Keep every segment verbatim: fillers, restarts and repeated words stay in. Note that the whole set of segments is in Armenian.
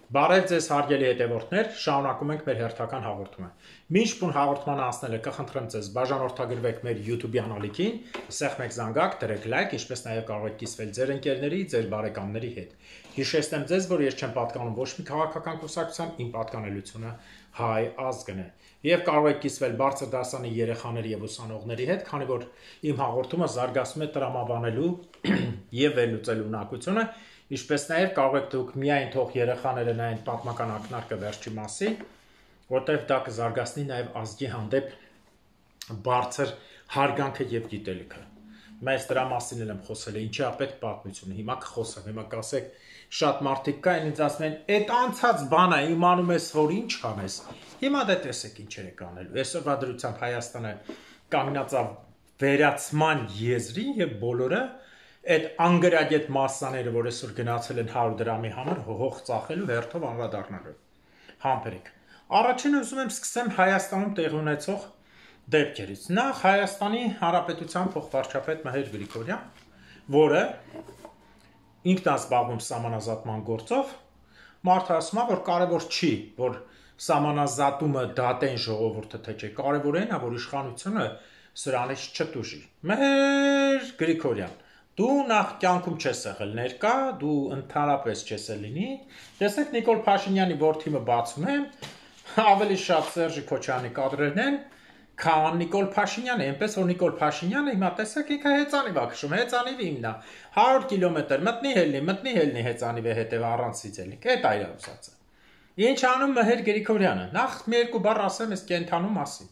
Բարև ձեզ հարգելի հետևորդներ, շարունակում ենք մեր հերթական հաղորդումը։ Մինչ բուն հաղորդմանը անցնելը կխնդրեմ ձեզ բաժանորդագրվեք մեր YouTube-ի ալիքին, սեղմեք զանգակ, դրեք լայք, ինչպես նաև կարող եք կիսվել ձեր ընկերների, ձեր բարեկամների հետ։ Հիշեցնեմ ձեզ, որ ես չեմ պատկանում ոչ մի քաղաքական կուսակցության, իմ պատկանելությունը հայ ազգն է։ Եվ կարող եք կիսվել բարձր դասանի երեխաների եւ ուսանողների հետ, քանի որ իմ հաղորդումը զարգացում է տրամաբանելու եւ վերլուծելու ունակությունը, ինչպես նաև կարող եք դուք միայն թող երեխաները նայեն պատմական ակնարկը վերջի մասին, որտեղ դա կզարգացնի նաև ազգի հանդեպ բարձր հարգանքը եւ գիտելիքը։ Մեզ դրա մասին եմ խոսել, ինչի է պետք պատմությունը։ Հիմա կխոսեմ, հիմա կասեք, շատ մարդիկ կային, ինձ ասում են, «Էդ անցած բանը իմանում ես, որ ինչ անես»։ Հիմա դե տեսեք ինչեր եք անելու։ Այսօրվա դրությամբ Հայաստանը կանգնածավ վերացման եզրի եւ բոլորը այդ անգրագետ մասսաները, որ այսօր գնացել են հարյուր դրամի համար, հող ծախելու հերթով անդրադառնալու։ Համբերեք։ Առաջին ուզում եմ սկսեմ Հայաստանում տեղի ունեցող դեպքերից։ Նախ Հայաստանի Հանրապետության փոխվարչապետ Մհեր Գրիգորյան, որը ինքն է զբաղվում սահմանազատման գործով, մարդը ասում է, որ կարևոր չի, որ սահմանազատումը դատեն ժողովուրդը թե չէ, կարևոր այն է, որ իշխանությունը սրանից չտուժի։ Մհեր Գրիգորյան, դու նախ կյանքում չես եղել ներկա, դու ընդհանրապես չես լինի։ Տեսեք Նիկոլ Փաշինյանի որդիմը բացում եմ, ավելի շատ Սերժի Քոչարյանի կադրերն են, քան Նիկոլ Փաշինյանը, այնպես որ Նիկոլ Փաշինյանը հիմա տեսեք ինքը հեծանիվ է քշում, հեծանիվի իմնա, հարյուր կիլոմետր մտնի հելնի, մտնի հելնի հեծանիվի հետև առանց ցիծելիք, այդ այր ուսացը։ Ինչ անում Մհեր Գրիգորյանը։ Նախ մի երկու բառ ասեմ այս կենթանու մասին։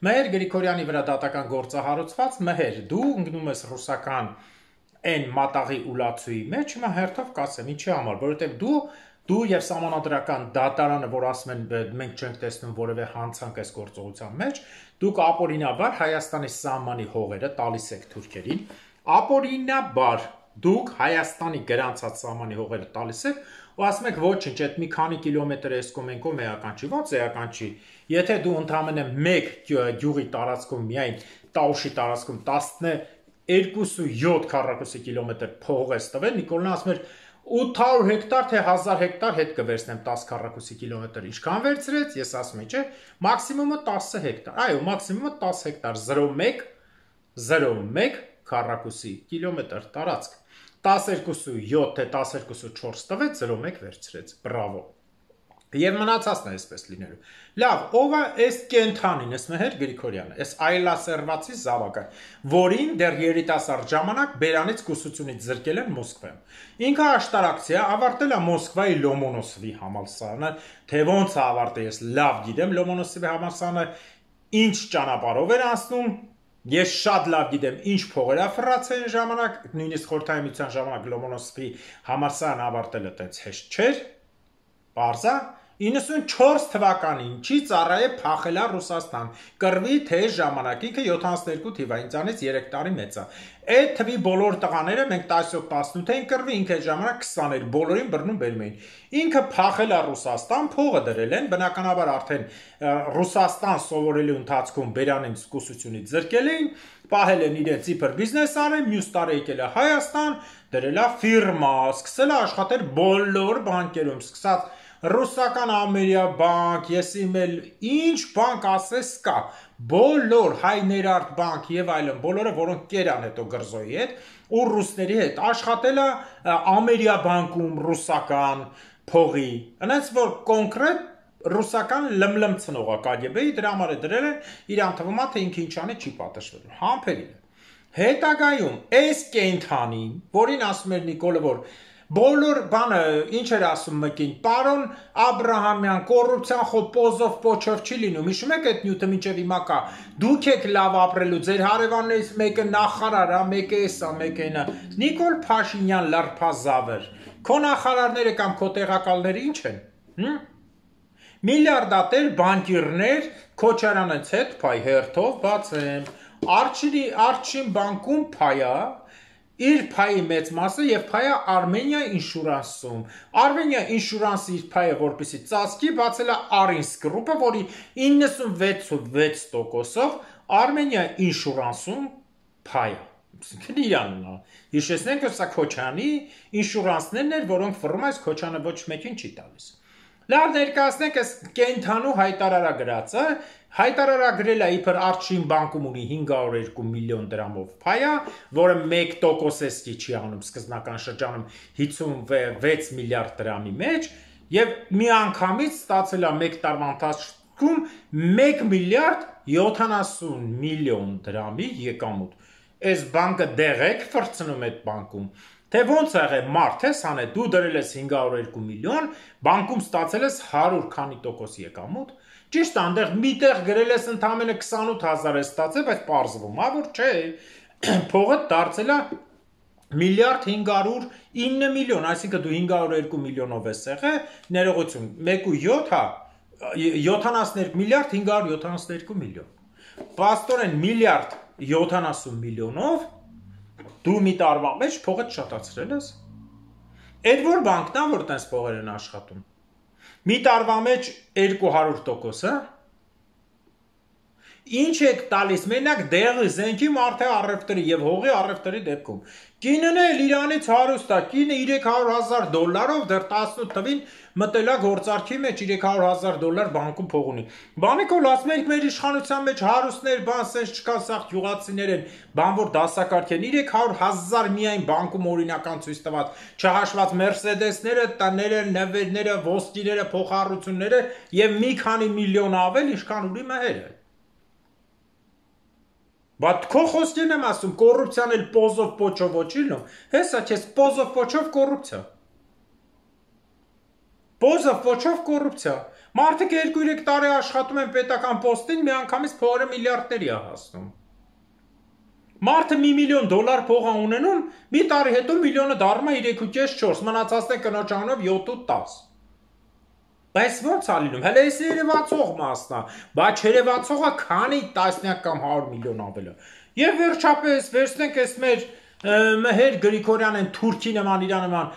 Մհեր Գրիգորյանի վրա դատական գործ է հարուցված, Մհեր, դու ընկնում ես ռուսական այն մատաղի ուլացուի մեջ, հիմա հերթով կասեմ, ինչի համար, որովհետև դու դու եւ սահմանադրական դատարանը, որ ասում են մենք չենք տեսնում որևէ հանցանք այս գործողության մեջ, դուք ապօրինաբար Հայաստանի սահմանի հողերը տալիս եք թուրքերին, ապօրինաբար դուք Հայաստանի գրանցած սահմանի հողերը տալիս եք ու ասում եք ոչինչ, այդ մի քանի կիլոմետր էս կոմենկով էական չի, ո՞նց էական չի։ Եթե դու ընդամենը մեկ գյուղի տարածքում միայն Տաուշի տարածքում տասնյոթ քառակուսի կիլոմետր փող ես տվել, Նիկոլն ասում էր ութ հարյուր հեկտար թե հազար հեկտար հետ կվերցնեմ տասը քառակուսի կիլոմետր, ինչքան վերցրեց, ես ասում եմ, չէ, մաքսիմումը տասը հեկտար, այո, մաքսիմումը տասը հեկտար, զրո մեկ, զրո մեկ քառակուսի կիլոմետր տարածք, տասներկու յոթ թե տասներկու չորս տվեց, զրո մեկ վերցրեց, բրավո։ Եվ մնացածն է այսպես լինելու։ Լավ, ով է այս կենթանին, այս Մհեր Գրիգորյանը, այս այլասերվածի զավակը, որին դեռ երիտասարդ ժամանակ բերանից կուսությունից զրկել են Մոսկվայում։ Ինքը աշտարակցիա ավարտել է Մոսկվայի Լոմոնոսովի համալսարանը, թե ոնց է ավարտել, ես լավ գիտեմ Լոմոնոսովի համալսարանը ինչ ճանապարհով էր անցնում, ես շատ լավ գիտեմ ինչ փողեր է ֆրացել ժամանակ, նույնիսկ խորհրդային միության ժամանակ Լոմոնոսովի համալսարանը ավարտելը տենց հեշտ չէր, պարզ է։ իննսունչորս թվականին չի ծառայե փախելա Ռուսաստան, կռվի թե ժամանակ, ինքը յոթանասներկու թիվա, ինձանից երեք տարի մեծ է։ Այդ թվի բոլոր տղաները մենք տասնյոթ տասնութին կռվի, ինքը այդ ժամանակ քսան էր, բոլորին բռնում բերում էին։ Ինքը փախելա Ռուսաստան, փողը դրել են, բնականաբար արդեն Ռուսաստան սովորելու ընթացքում բերանին կուսությունից զրկել էին, պահել են իրենց իբր բիզնես արել, մյուս տարի եկել է Հայաստան, դրել է ֆիրմա, սկսել է աշխատել բոլոր բանկերում, սկսած Ռուսական Ամերիա բանկ, ես իմ էլ ինչ բանկ ասես կա, բոլոր հայ ներարդ բանկ եւ այլն, բոլորը որոնք կերան հետո գրզոյի հետ ու ռուսների հետ աշխատել է Ամերիա բանկում ռուսական փողի, այնպես որ կոնկրետ ռուսական լմլմ ցնողա կագեբեի դրա համար է դրել են, իրան թվում է թե ինքը ինչ անի չի պատժվել։ Համբերին է։ Հետագայում այս կենթանին, որին ասում էր Նիկոլը, որ բոլոր բանը ինչ էր ասում մեկին, պարոն Աբրահամյան, կոռուպցիան խո պոզով պոչով չի լինում, հիշում եք այդ նյութը մինչև հիմա կա, դուք եք լավ ապրելու, ձեր հարևաններից մեկը նախարար է, մեկը էսա, մեկը այնա, Նիկոլ Փաշինյան լարփազավեր, քո նախարարները կամ քո տեղակալները ինչ են, հմ? Միլիարդատեր բանկիրներ, Քոչարյանից հետ փայ հերթով բացեմ, Արջին բանկում փայա, իր փայի մեծ մասը եւ փայը Armenia Insurance-ում։ Armenia Insurance-ի իր փայը որպեսի ծածկի բացել է Arinsk Group-ը, որի իննսունվեց տոկոսով Armenia Insurance-ում փայը։ Իրանն է։ Հիշեցնենք, որ սա Քոչանի ինշուրանսներն էր, որոնք ֆռում այս Քոչանը ոչ մեկին չի տալիս։ Լավ ներկայացնենք այս կենթանու հայտարարագրածը, հայտարարագրել է իբր Արչին բանկում ունի հինգ հարյուր երկու միլիոն դրամով փայա, որը մեկ տոկոսեսկի չի անում սկզբնական շրջանում հիսունվեց միլիարդ դրամի մեջ, եւ միանգամից ստացել է մեկ տարվա ընթացքում մեկ միլիարդ յոթանասուն միլիոն դրամի եկամուտ։ Այս բանկը դեղեք ֆրցնում այդ բանկում։ Թե ոնց է եղել մարդ ես հանե, դու դրել ես հինգ հարյուր երկու միլիոն, բանկում ստացել ես հարյուր քանի տոկոս եկամուտ, ճիշտ այնտեղ միտեղ գրել ես ընդամենը քսանութ հազար ես ստացել, բայց պարզվում է, որ չէ, փողը դարձել է միլիարդ հինգ հարյուր ինը միլիոն, այսինքն դու հինգ հարյուր երկու միլիոնով ես եղել, ներողություն, մեկ ու յոթ հա, յոթանասուններկու միլիարդ հինգ հարյուր յոթանասուներկու միլիոն։ Պաստորեն միլիարդ յոթանասուն միլիոնով դու մի տարվա մեջ փողը շատացրել ես։ Այդ որ բանկն է, որ տես փողեր են աշխատում։ Մի տարվա մեջ երկու հարյուր տոկոս, հա։ Ինչ եք տալիս, մենակ դեղի, զենքի մարդը առևտրի եւ հողի առևտրի դեպքում։ Կինն էլ Իրանից հարուստ է, կինը երեք հարյուր հազար դոլարով դեռ տասնութ թվին մտել է գործարքի մեջ երեք հարյուր հազար դոլար բանկում փող ունի։ Բանիկոլ ասում ենք մեր իշխանության մեջ հարուստներ, բան սենց չկա, սաղ գյուղացիներ են, բան որ դասակարգ են, երեք հարյուր հազար միայն բանկում օրինական ցույց տված, չհաշված Մերսեդեսները, տները, նվերները, ոսկիները, փոխառությունները եւ մի քանի միլիոն ավել ինչքան ունի մհերը։ Բայց քո խոսքին եմ ասում, կոռուպցիան էլ պոզով պոչով ոչիլն, հեսա քեզ պոզով պոչով կոռուպցիա։ Պոզով պոչով կոռուպցիա։ Մարդիկ երկու-երեք տարի աշխատում են պետական պոստին, միանգամից փողերը միլիարդների է հասնում։ Մարդը մի միլիոն դոլար փող է ունենում, մի տարի հետո միլիոնը դառնում է երեք ու կես չորս, մնացածն է կնոջ անունով յոթ ու տաս։ Բայց ոնց է լինում, հələ էս երևացող մասն է, բայց երևացողը քանի տասնյակ կամ հարյուր միլիոն ավել է։ Եվ վերջապես վերցնենք այս մեր Մհեր Գրիգորյանն թուրքի նման իր նման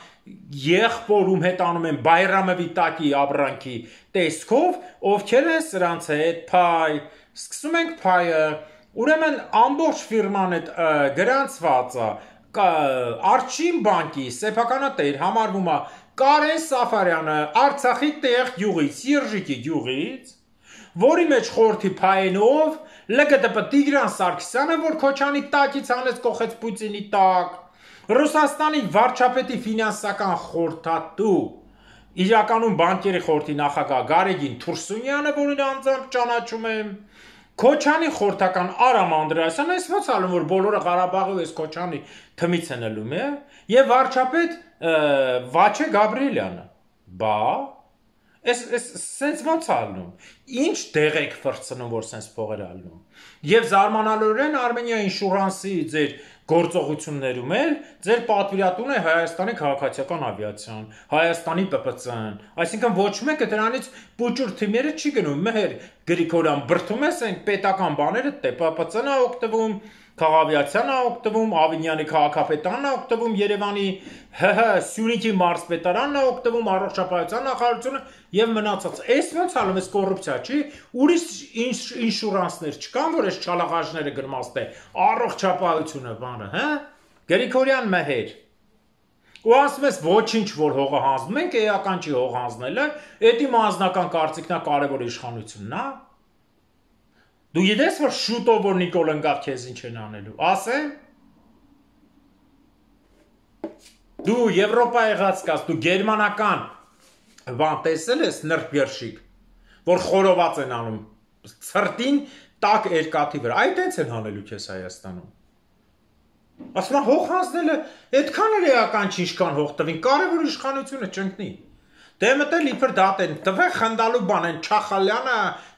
եղբորում հետ անում են Բայրամովի տակի ապրանքի տեսքով, ովքեր են սրանց հետ փայ, սկսում ենք փայը, ուրեմն ամբողջ ֆիրման հետ գրանցված է, Արչին բանկի սեփականատեր համարվում է Կարեն Սաֆարյանը Արցախի տեղ գյուղից, Սիրժիկի գյուղից, որի մեջ խորթի փայենով, ԼԳՏԲ Տիգրան Սարգսյանը, որ Քոչանի տակից անեց կողեց Պուտինի տակ, Ռուսաստանի վարչապետի ֆինանսական խորհրդատու, իրականում բանկերի խորհրդի նախագահ Գարեգին Թուրսունյանը, որին անձամբ ճանաչում եմ, Քոչանի խորհրդական Արամ Անդրեասյանը, այս ոնց ալում, որ բոլորը Ղարաբաղի այս Քոչանի թմից են ելում, է, եւ վարչապետ Վաչե Գաբրիելյանը, բա, այս սենց ոնց ալնում, ինչ դեղ եք ֆրցնում, որ սենց փողեր ալնում, եւ զարմանալիորեն Արմենիա ինշուրանսի ձեր գործողություններում էլ ձեր պատվիրատուն է Հայաստանի քաղաքացիական ավիացիան, Հայաստանի ՊՊՑ-ն, այսինքն ոչ մեկը դրանից պուճուր թիմերը չի գնում, Մհեր Գրիգորյան բրթում ես այն պետական բաները, դե ՊՊՑ-ն է օգտվում, Քաղավիացիան է օգտվում, Ավինյանի քաղաքապետանն է օգտվում, Երևանի ՀՀ Սյունիքի մարզպետարանն է օգտվում, առողջապահության նախարարությունը եւ մնացած։ Այս ոնց ալում էս կոռուպցիա չի, ուրիշ ինշուրանսներ չկան, որ այս չալաղաժները գրմաստ է, առողջապահությունը բանը, հա։ Գրիգորյան Մհեր։ Ու ասում ես ոչինչ որ հողը հանձնում ենք, էական չի հող հանձնելը, էդի անձնական կարծիքն է կարևոր իշխանությունն է։ Դու գիտես, որ շուտով որ Նիկոլ ընկավ քեզ ինչ են անելու, ասեմ։ Դու Եվրոպա եղած կաս, դու գերմանական բան տեսել ես նրբերշիկ, որ խորոված են անում, ցրտին տակ երկաթի վրա, այդ էց են անելու քեզ Հայաստանում։ Ասում հող հանձնելը այդքան էլ էական չի, ինչքան հող տվին, կարևոր իշխանությունը չընկնի։ Դե մտել իբր դատեն, տվե խնդալու բան են Չախալյանը,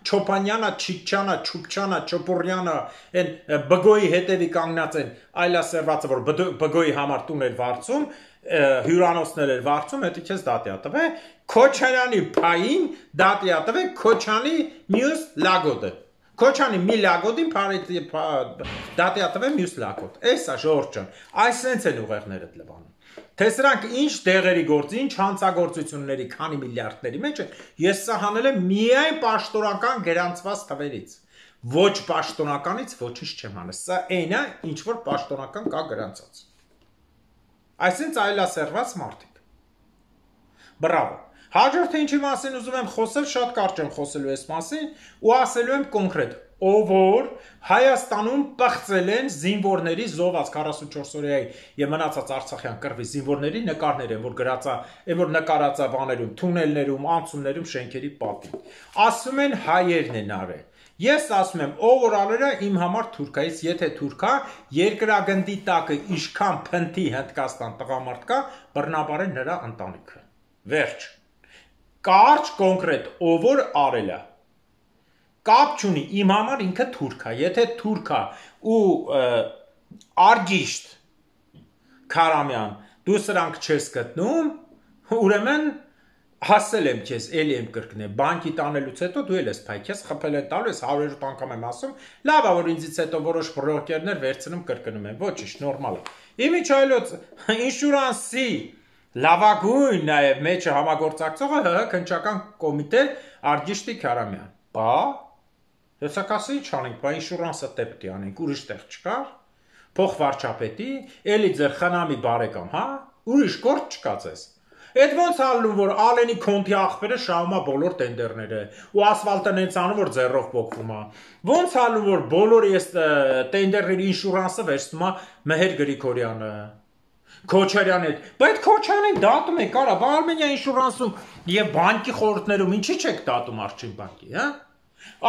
Չոփանյանը, Չիչյանը, Չուպչյանը, Չոպուրյանը, են Բգոյի հետևի կանգնած են, այլասերվածը, որ Բգոյի համար տուն էր վարձում, հյուրանոցներ էր վարձում, հետո քեզ դատի տվե, Քոչարյանի փային դատի տվե Քոչանի մյուս լագոդը։ Քոչանի մի լագոդին դատի տվե մյուս լագոդ։ Էսա Ժորժ ջան, այսենց են ուղեղները լվանում։ Թե սրանք ինչ դեղերի գործ, ինչ հանցագործությունների, քանի միլիարդների մեջ է, ես սա հանել եմ միայն պաշտոնական գրանցված թվերից։ Ոչ պաշտոնականից ոչինչ չեմ անել։ Սա այն է, ինչ որ պաշտոնական կա գրանցած։ Այսինքն այլասերված մարդիկ։ Բրավո։ Հաջորդը ինչի մասին ուզում եմ խոսել, շատ կարճ եմ խոսելու այս մասին ու ասելու եմ կոնկրետ, ով որ Հայաստանում պղծել են զինվորների զոհված քառասունչորս օրյայի եւ մնացած Արցախյան կռվի զինվորների նկարներ են, որ գրածա, այն որ նկարածա բաներում, թունելներում, անցումներում, շենքերի պատին։ Ասում են հայերն են արել։ Ես ասում եմ, ով որ արել է իմ համար թուրքայից, եթե թուրքա, երկրագնդի տակը իշքան փնթի Հնդկաստան տղամարդ կա, բռնաբար է նրա ընտանիքը։ Վերջ։ Կարճ կոնկրետ, ով որ արել է։ Կապ չունի, իմ համար ինքը թուրքա, եթե թուրքա ու Արգիշտ Քարամյան, դու սրանք չես գտնում, ուրեմն հասել եմ քեզ, էլի եմ կրկնել, բանկի տանելուց հետո դու էլ ես փայ, քեզ խփել են տալու, ես հարյուր անգամ եմ ասում, լավ է, որ ինձից հետո որոշ բրոկերներ վերցնում կրկնում են, ոչինչ, նորմալ է։ Իմիջայլոց ինշուրանսի լավագույն նաև մեջը համագործակցողը ՀՀ քննչական կոմիտե Արգիշտի Քարամյան։ Բա հեսակասի չանենք, բա ինշուրանսը տեպտի անենք, ուրիշ տեղ չկար, փող վարչապետի, էլի ձեր խնամի բարեկամ, հա, ուրիշ գործ չկա ձեզ։ Այդ ոնց ալնում, որ Ալենի Քոնթի աղբերը շահում է բոլոր տենդերները, ու ասֆալտը նենց անում, որ ձեռով պոկվում է։ Ոնց ալնում, որ բոլորի այս տենդերների ինշուրանսը վերցնում է Մեհեր Գրիգորյանը, Քոչարյանը, բայց Քոչարյանին դատում եք, արա, բա Արմենիա ինշուրանսում եւ բանկի խորհուրդներում ինչի՞ չեք դատում Արչին բանկի, հա։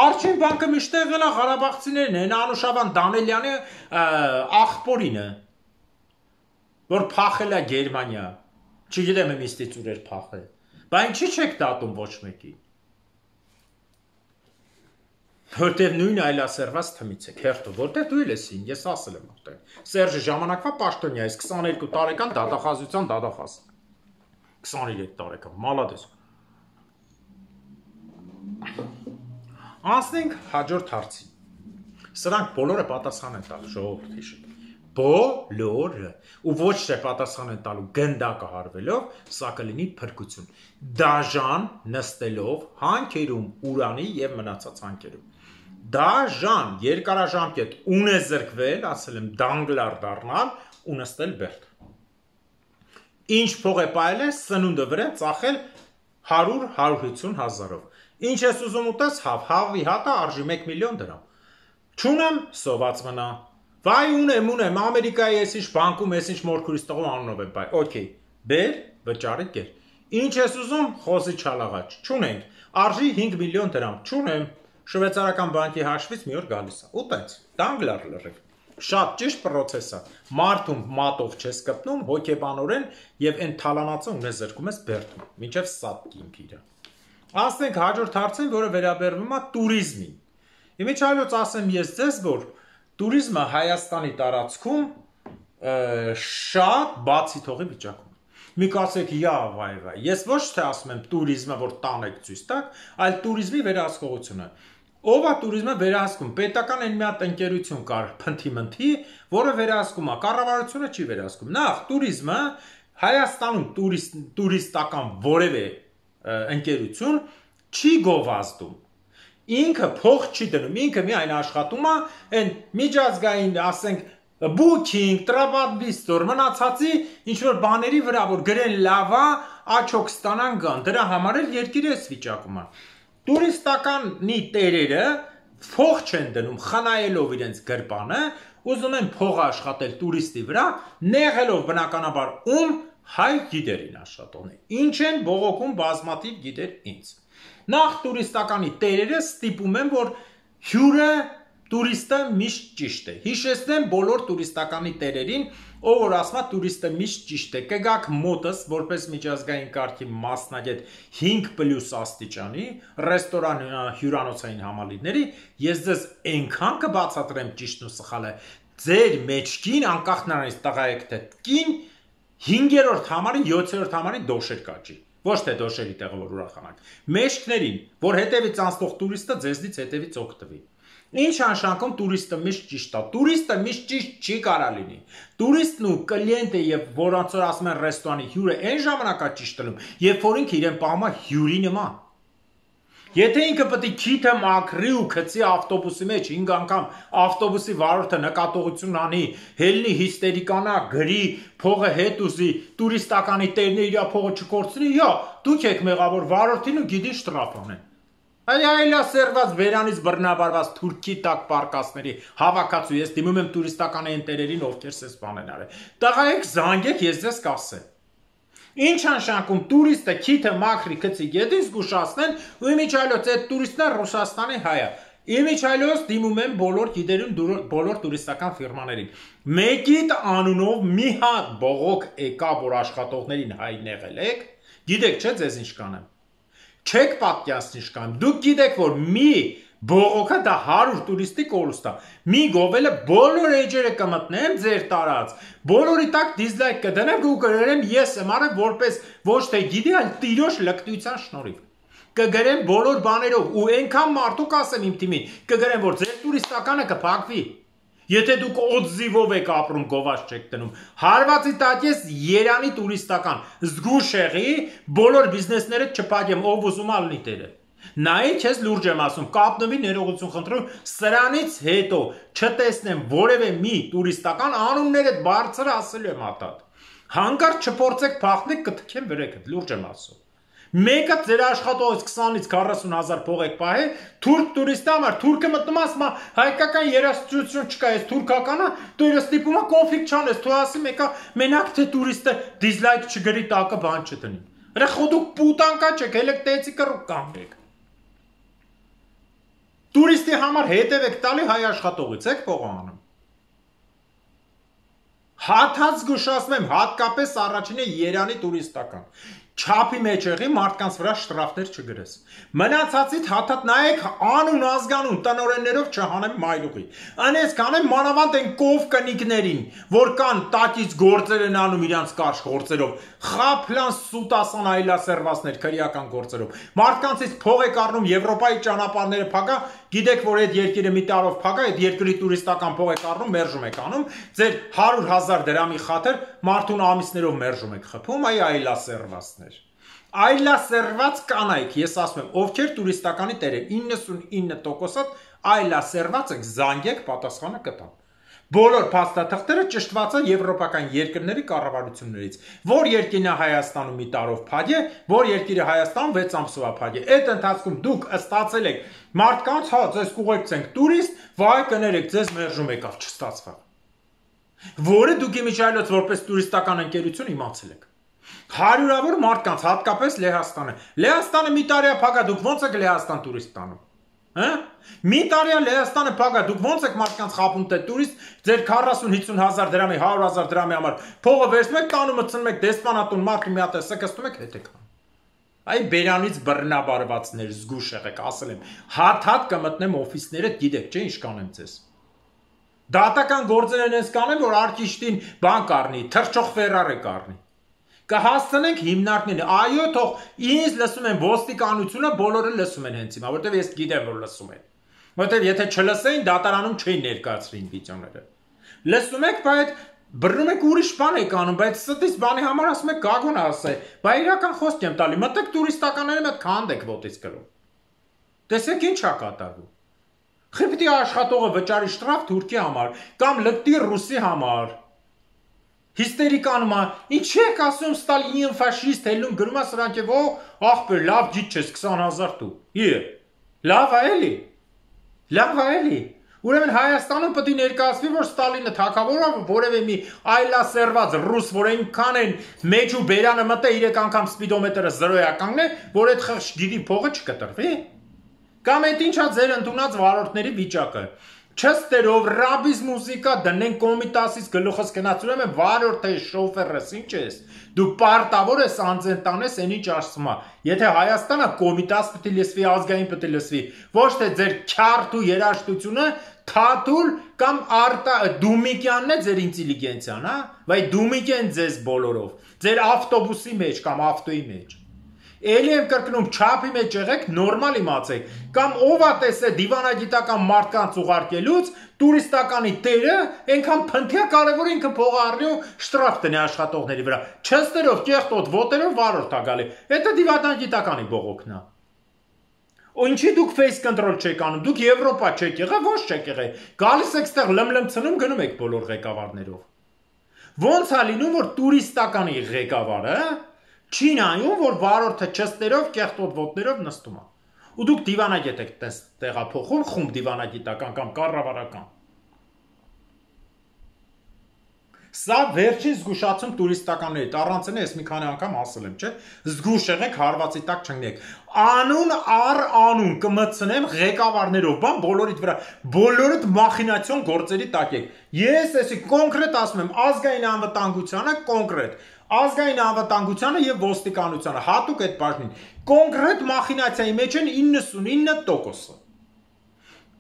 Արչին բանկը միշտ եղել է Ղարաբաղցիներն են, Անուշավան Դանելյանի աղբորինը, որ փախել է Գերմանիա։ Չգիտեմ եմ իստից ուր էր փախել, բա ինչի՞ չեք դատում ոչ մեկի։ Որտեւ նույն այլասերված թմից եք, հերթով, որտեւ դու էլ ես ին, ես ասել եմ որտեւ։ Սերժը ժամանակվա պաշտոնյա է, քսաներկու տարեկան դատախազության դատախազ։ քսաներեք տարեկան, մալադես։ Անցնենք հաջորդ հարցին։ Սրանք բոլորը պատասխան են տալու, ժողովուրդ հիշեք։ Բոլորը, ու ոչ թե պատասխան են տալու գնդակը հարվելով, սա կլինի փրկություն։ Դաժան նստելով հանքերում, Ուրանի եւ մնացած հանքերում։ Դաժան երկարաժամկետ ունեզրկվել, ասել եմ դանգլար դառնալ ու նստել բերդ։ Ինչ փող է պայել է սնունդը վրա ծախել հարյուր հարյուր հիսուն հազարով։ Ինչ ես ուզում ուտես, հավ, հավի հատը արժի մեկ միլիոն դրամ։ Չունեմ, սոված մնա։ Վայ ունեմ, ունեմ, Ամերիկայի ես ինչ բանկում, ես ինչ մորքուրից տղու անունով եմ բայ, օքեյ, բեր, վճարի կեր, ինչ ես ուզում, խոզի չալաղաչ, չունենք, արժի հինգ միլիոն դրամ, չունեմ, շվեցարական բանկի հաշվից մի օր գալիս է, ուտենց, դանգլար լրիվ, շատ ճիշտ պրոցես է, մարդում մատով չես կպնում, հոգեբանորեն և են թալանացը ունեզրկում ես բերդում, մինչև սատ կինքիրը։ Անցնենք հաջորդ հարցին, որը վերաբերվում է տուրիզմին։ Իմիջայլոց ասեմ ես ձեզ, որ տուրիզմը Հայաստանի տարածքում շատ բացի թողի վիճակում։ Մի կասեք, յա վայ վայ, ես ոչ թե ասում եմ տուրիզմը, որ տանեք ցույց տակ, այլ տուրիզմի վերահսկողությունը։ Ով է տուրիզմը վերահսկում։ Պետական այն մի հատ ընկերություն կար, փնթի-մնթի, որը վերահսկում է, կառավարությունը չի վերահսկում։ Նախ տուրիզմը Հայաստանում տուրիստական որևէ ընկերություն չի գովազդում։ Ինքը փող չի դնում, ինքը միայն աշխատում է այն միջազգային, ասենք, booking, TripAdvisor, մնացածի ինչ-որ բաների վրա, որ գրեն լավ է, աչոք ստանան գան, դրա համար էլ երկիրը էս վիճակում է։ Տուրիստականի տերերը փող չեն դնում, խնայելով իրենց գրպանը, ուզում են փող աշխատել տուրիստի վրա, նեղելով բնականաբար ում հայ գիդերին աշխատողն է։ Ինչ են բողոքում բազմաթիվ գիդեր ինձ։ Նախ տուրիստականի տերերը ստիպում են, որ հյուրը տուրիստը միշտ ճիշտ է։ Հիշեցնեմ բոլոր տուրիստականի տերերին, ով որ ասում է տուրիստը միշտ ճիշտ է։ Կգաք մոտս որպես միջազգային կարգի մասնագետ հինգ պլյուս աստիճանի, ռեստորան հյուրանոցային համալիրների, ես ձեզ այնքան կբացատրեմ ճիշտն ու սխալը, ձեր մեջքին անկախ նրանից տղա եք թե կին, հինգերորդ համարի, յոթերորդ համարի դոշեր կաճի։ Ոչ թե դոշերի տեղը որ ուրախանանք։ Մեջքներին, որ հետևից անցնող տուրիստը ձեզնից հետևից օգտվի։ Ինչ անշանքում տուրիստը միշտ ճիշտ է։ Տուրիստը միշտ ճիշտ չի կարա լինի։ Տուրիստն ու կլիենտը եւ որոնց որ ասում են ռեստորանի հյուրը այն ժամանակա ճիշտ լինում, երբ որ ինքը իրեն պահում է հյուրի նման։ Եթե ինքը պետք է քիթը մաքրի ու գցի ավտոբուսի մեջ հինգ անգամ ավտոբուսի վարորդը նկատողություն անի, հելնի հիստերիկանա, գրի, փողը հետ ուզի, տուրիստականի տերն իր փողը չկորցնի, յա, դուք եք մեղավոր վարորդին ու գիտի շտրաֆ անեն։ Այ այլա սերված բերանից բռնաբարված թուրքի տակ պարկասների հավաքածու ես դիմում եմ տուրիստական ընտերերին, ովքեր սես բանեն արել։ Տղայեք զանգեք, ես ձեզ կասեմ։ Ինչ անշանակում տուրիստը քիթը մաքրի գցի գետին զգուշացնեն ու իմիջայլոց այդ տուրիստներ Ռուսաստանի հայա։ Իմիջայլոց դիմում են բոլոր գիտերուն բոլոր տուրիստական ֆիրմաներին։ Մեկիդ անունով մի հատ բողոք եկա, որ աշխատողներին հայն եղել եք, գիտեք չէ ձեզ ինչ կանեմ։ Չեք պատկերացնի ինչ կանեմ։ Դուք գիտեք որ մի բողոքը դա հարյուր տուրիստի կորուստ է։ Մի գովելը բոլոր էջերը կմտնեմ ձեր տարած, բոլորի տակ դիզլայք կդնեմ ու կգրեմ ես եմ արել որպես ոչ թե գիտի, այլ տիրոջ լկտության շնորհիվ։ Կգրեմ բոլոր բաներով ու այնքան մարդու կասեմ իմ թիմին, կգրեմ որ ձեր տուրիստականը կփակվի։ Եթե դուք օձիվով եք ապրում, գովաց չեք դնում, հարվածի տակ ես Երանի տուրիստական, զգուշ եղի, բոլոր բիզնեսները չփակեմ, ով ուզում ալնի տերը։ Նայ քեզ լուրջ եմ ասում, կապնվի ներողություն խնդրում, սրանից հետո չտեսնեմ որևէ մի տուրիստական անունները բարձր ասելու եմ ատատ։ Հանկարծ չփորձեք փախնեք կթքեմ վրեքդ, լուրջ եմ ասում։ Մեկը ձեր աշխատողից քսանից քառասուն հազար փող եք պահել, թուրք տուրիստի համար, թուրքը մտնում ասում է հայկական երաժշտություն չկա, այս թուրքականը, դու իրս ստիպում է կոնֆլիկտ չանես, դու ասի մեկը մենակ թե տուրիստը դիզլայք չգրի տակը բան չտնի։ Հələ խոդուք պուտանկա չեք, հելեք տեցի կռուկ կանգնեք։ Տուրիստի համար հետև եք տալի հայ աշխատողից եք փող անում։ Հաթած զգուշացնեմ, հատկապես առաջինը Երանի տուրիստական։ Չափի մեջ եղի մարդկանց վրա շտրաֆներ չգրես։ Մնացածից հաթատ նայեք անուն ազգանուն տնօրեններով չհանեմ մայլուղի։ Անես կանեմ մանավանդ են կով կնիկներին, որ կան տակից գործեր են անում իրանց կարճ գործերով, խափլան սուտասան այլասերվածներ քրեական գործերով։ Մարդկանցից փող եք առնում Եվրոպայի ճանապարհները փակա, գիտեք որ այդ երկիրը մի տարով փակա, այդ երկրի տուրիստական փող եք առնում, մերժում եք անում, ձեր հարյուր հազար դրամի խաթր մարդուն ամիսներով մերժում եք խփում, այ այլասերվածներ։ Այլասերված կանայք, ես ասում եմ, ովքեր տուրիստականի տեր են, իննսունինը տոկոսատ այլասերված եք, զանգեք, պատասխանը կտան։ Բոլոր փաստաթղթերը ճշտված են եվրոպական երկրների կառավարություններից, որ երկիրն է Հայաստանում մի տարով փակ է, որ երկիրը Հայաստանում վեց ամսվա փակ է։ Այդ ընթացքում դուք ստացել եք մարդկանց, հա, ձեզ կուղեկցենք տուրիստ, վայ կներեք, ձեզ մերժում եկավ, չստացվավ։ Որը դուք իմիջայլոց որպես տուրիստական ընկերություն իմացել եք։ Հարյուրավոր մարդկանց, հատկապես Լեհաստանը։ Լեհաստանը մի տարի է փակ է, դուք ո՞նց եք Լեհաստան տուրիստ տանում։ Հա? Մի տարի է Լեհաստանը փակ է, դուք ո՞նց եք մարդկանց խափում թե տուրիստ, ձեր քառասուն հիսուն հազար դրամի, հարյուր հազար դրամի համար փողը վերցնում եք, տանում մտցնում եք դեսպանատուն, մարդու մի հատ է սկստում եք, հետ եք անում։ Այ բերանից բռնաբարվածներ, զգուշ եղեք, ասել եմ, հատ-հատ կմտնեմ օֆիսները, գիտեք, չէ՞ ինչ կանեմ ձեզ։ Դատական գործեր են ես կանեմ, որ արկիշտին բան կառնի, թռչող Ֆերրարի կառնի։ Կհասցնենք հիմնարկներին, այո, թող ինձ լսում են ոստիկանությունը, բոլորը լսում են հենց հիմա, որտեվ ես գիտեմ, որ լսում են։ Որտեվ եթե չլսեին, դատարանում չէին ներկայացրին վիդեոները։ Լսում եք, բայց բռնում եք ուրիշ բան եք անում, բայց ստից բանի համար ասում եք գագոն ասե, բա իրական խոսք եմ տալի, մտեք տուրիստականների մոտ քանդ եք ոտից կրում։ Տեսեք ինչ է կատարվում։ Խիպտի աշխատողը վճարի շտրաֆ Թուրքի համար, կամ լկտի ռուսի համար։ Հիստերիկանում է, ինչ եք ասում Ստալինին ֆաշիստ հելնում գրում է սրանք է, ո, ախպեր, լավ ջիտ չես, քսան հազար դու։ Իե, լավ է էլի, լավ է էլի։ Ուրեմն Հայաստանում պետք է ներկայացվի, որ Ստալինը թագավորը որևէ մի այլասերված ռուս, որ այնքան են մեջ ու բերանը մտե երեք անգամ սպիդոմետրը զրոյականն է, որ այդ խղճ դիվի փողը չկտրվի։ Կամ այդ ինչա ձեր ընդունած վարորդների վիճակը։ Չստերով ռաբիզ մուզիկա դնեն կոմիտասից գլուխս գնացում եմ վարորդ է շոֆերս ինչ ես դու պարտավոր ես անձեն տանես այն ինչ ասում է եթե Հայաստանը կոմիտաս պետք է լսվի ազգային պետք է լսվի ոչ թե ձեր քյարթ ու երաժշտությունը թաթուլ կամ արտա դումիկյանն է ձեր ինտելիգենցիան հա վայ դումիկեն ձեզ բոլորով ձեր ավտոբուսի մեջ կամ ավտոյի մեջ Էլի եմ կրկնում չափի մեջ եղեք նորմալ իմացեք կամ ով է տեսել դիվանագիտական մարդկանց ուղարկելուց տուրիստականի տերը այնքան փնթիա կարևոր ինքը փողը առնի ու շտրաֆ տնի աշխատողների վրա չստերով կեղտոտ ոտերով վարորդ ա գալի դա դիվանագիտականի բողոքն է Ու ինչի դուք face control չեք անում, դուք Եվրոպա չեք եղել, ոչ չեք եղել, գալիս եք ստեղ լմլմցնում գնում եք բոլոր ղեկավարներով։ Ոնց է լինում, որ տուրիստականի ղեկավարը չի նայում, որ վարորդը չստերով, կեղտոտ ոտներով նստում է։ Ու դուք դիվանագետ եք տեղափոխում, խումբ դիվանագիտական կամ կառավարական։ Սա վերջին զգուշացում տուրիստականներից, առանցին ես մի քանի անգամ ասել եմ, չէ, զգուշ եղեք, հարվածի տակ չընկնեք։ Անուն առ անուն կմտցնեմ ղեկավարներով, բան բոլորիդ վրա, բոլորդ մախինացիոն գործերի տակ եք։ Ես էսի կոնկրետ ասում եմ, ազգային անվտանգությանը կոնկրետ, ազգային անվտանգությանը եւ ոստիկանությանը, հատուկ այդ բաժնին, կոնկրետ մախինացիայի մեջ են իննսունինը տոկոսը։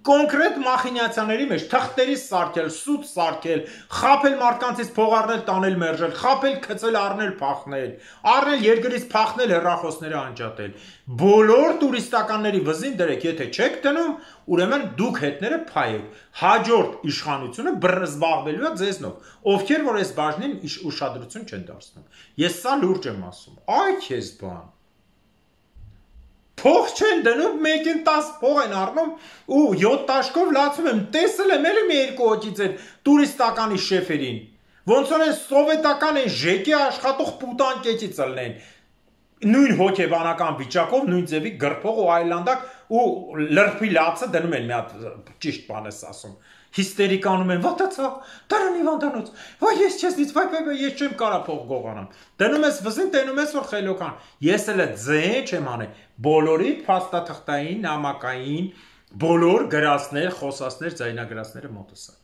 Կոնկրետ մախինացիաների մեջ թղթերի սարքել, սուտ սարքել, խապել մարդկանցից փող առնել, տանել մերժել, խապել, գցել, առնել, փախնել, առնել երկրից փախնել, հեռախոսները անջատել։ Բոլոր տուրիստականների վզին դրեք, եթե չեք դնում, ուրեմն դուք հետները փայեք։ Հաջորդ իշխանությունը զբաղվելու է ձեզնով, ովքեր որ այս բաժնին ուշադրություն չեն դարձնում։ Ես սա լուրջ եմ ասում։ Այ քեզ բան։ Փող չեն դնում, մեկին տաս փող են առնում ու յոթ տաշկով լացում եմ, տեսել եմ էլի մի երկու հոգից են տուրիստականի շեֆերին, ոնց որ են սովետական են ժեկի աշխատող պուտան կեչի ծլնեն, նույն հոգեբանական վիճակով, նույն ձևի գրփող ու այլանդակ ու լրփի լացը դնում են մի հատ ճիշտ բան ես ասում, հիստերիկանում են, վատացա, դարան Իվանդանոց, վայ ես չեսնից, վայ վայ վայ ես չեմ կարա փող գողանամ, դնում ես վզին, տենում ես որ խելոքան, ես էլ ձե չեմ անել, բոլորի փաստաթղթային, նամակային, բոլոր գրածներ, խոսածներ, ձայնագրածները մոտս է։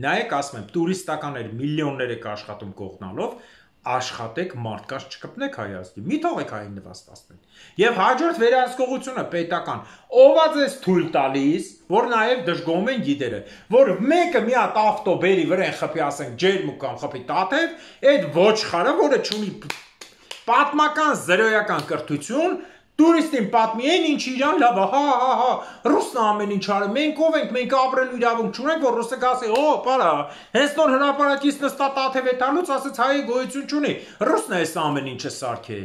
Նայեք, ասում եմ, տուրիստականներ միլիոններ եք աշխատում կողնալով, աշխատեք մարդկանց չկպնեք Հայաստանի, մի թողեք հային նվաստացնեն։ Եվ հաջորդ վերահսկողությունը պետական, ով է ձեզ թույլ տալիս, որ նաև դժգոհում են գիդերը, որ մեկը մի հատ ավտո բերի վրան խփի, ասենք ջերմուկ կամ խփի տաթև, այդ ոչխարը, որը չունի պատմական զրոյական կրթություն, տուրիստին պատմի են ինչ իրան լավ, հա, հա, հա, ռուսն ամեն ինչ արը, մենք ով ենք, մենք ապրելու իրավունք չունենք, որ ռուսը գասի, օ, պարա, հենց նոր հրապարակից նստա տաթև է տալուց, ասեց հայի գոյություն չունի, ռուսն է այս ամեն ինչը սարքե։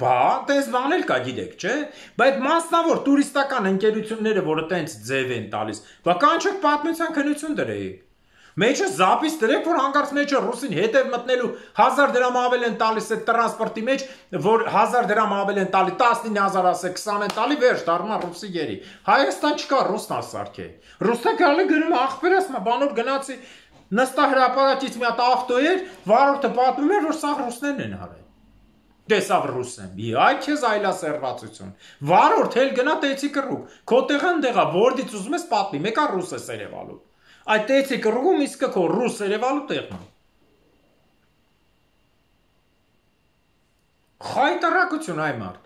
Բա, տես բան էլ կա գիտեք, չէ, բայց մասնավոր տուրիստական ընկերությունները, որը տենց ձև են տալիս, բա կանչեք պատմության քննություն դրեիք։ Մեջը զապիս դրեք, որ հանկարծ մեջը ռուսին հետև մտնելու հազար դրամ ավել են տալիս այդ տրանսպորտի մեջ, որ հազար դրամ ավել են տալի, տասնինը հազար ասեք, քսան են տալի, վերջ դառնա ռուսի գերի։ Հայաստան չկա, ռուսն ասարքե։ Ռուսը գալի գրում ախպեր ասում, բանոր գնացի, նստա հրապարակից մի հատ ավտո էր, վարորդը պատմում էր, որ սա ռուսներն են արել։ Տեսավ ռուսն, այ քեզ այլասերվածություն։ Վարորդ էլ գնա տեցի կռուկ, քո տեղը ընդեղա, որդից ուզում ես պատմի, մեկա ռուս է սերևալու։ Այդ տեցի կռուգում իսկը քո ռուս երևալու տեղն է։ Խայտարակություն այ մարդ։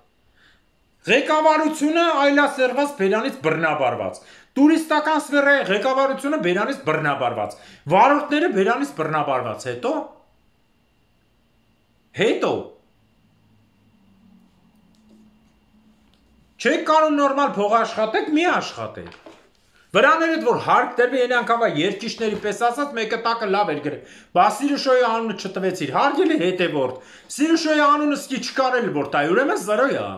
Ղեկավարությունը այլասերված բերանից բռնաբարված։ Տուրիստական սֆերայի ղեկավարությունը բերանից բռնաբարված։ Վարորդները բերանից բռնաբարված։ Հետո Հետո Չեք կարող նորմալ փող աշխատեք, մի աշխատեք։ Վրաներդ որ հարկ դեպի են անգամվա երկիշների պես ասած մեկը տակը լավ էր գրել, բա Սիրուշոյի անունը չտվեցիր, հարգելի հետևորդ, Սիրուշոյի անունը սկի չկարել որ տայ, ուրեմն զրոյ է,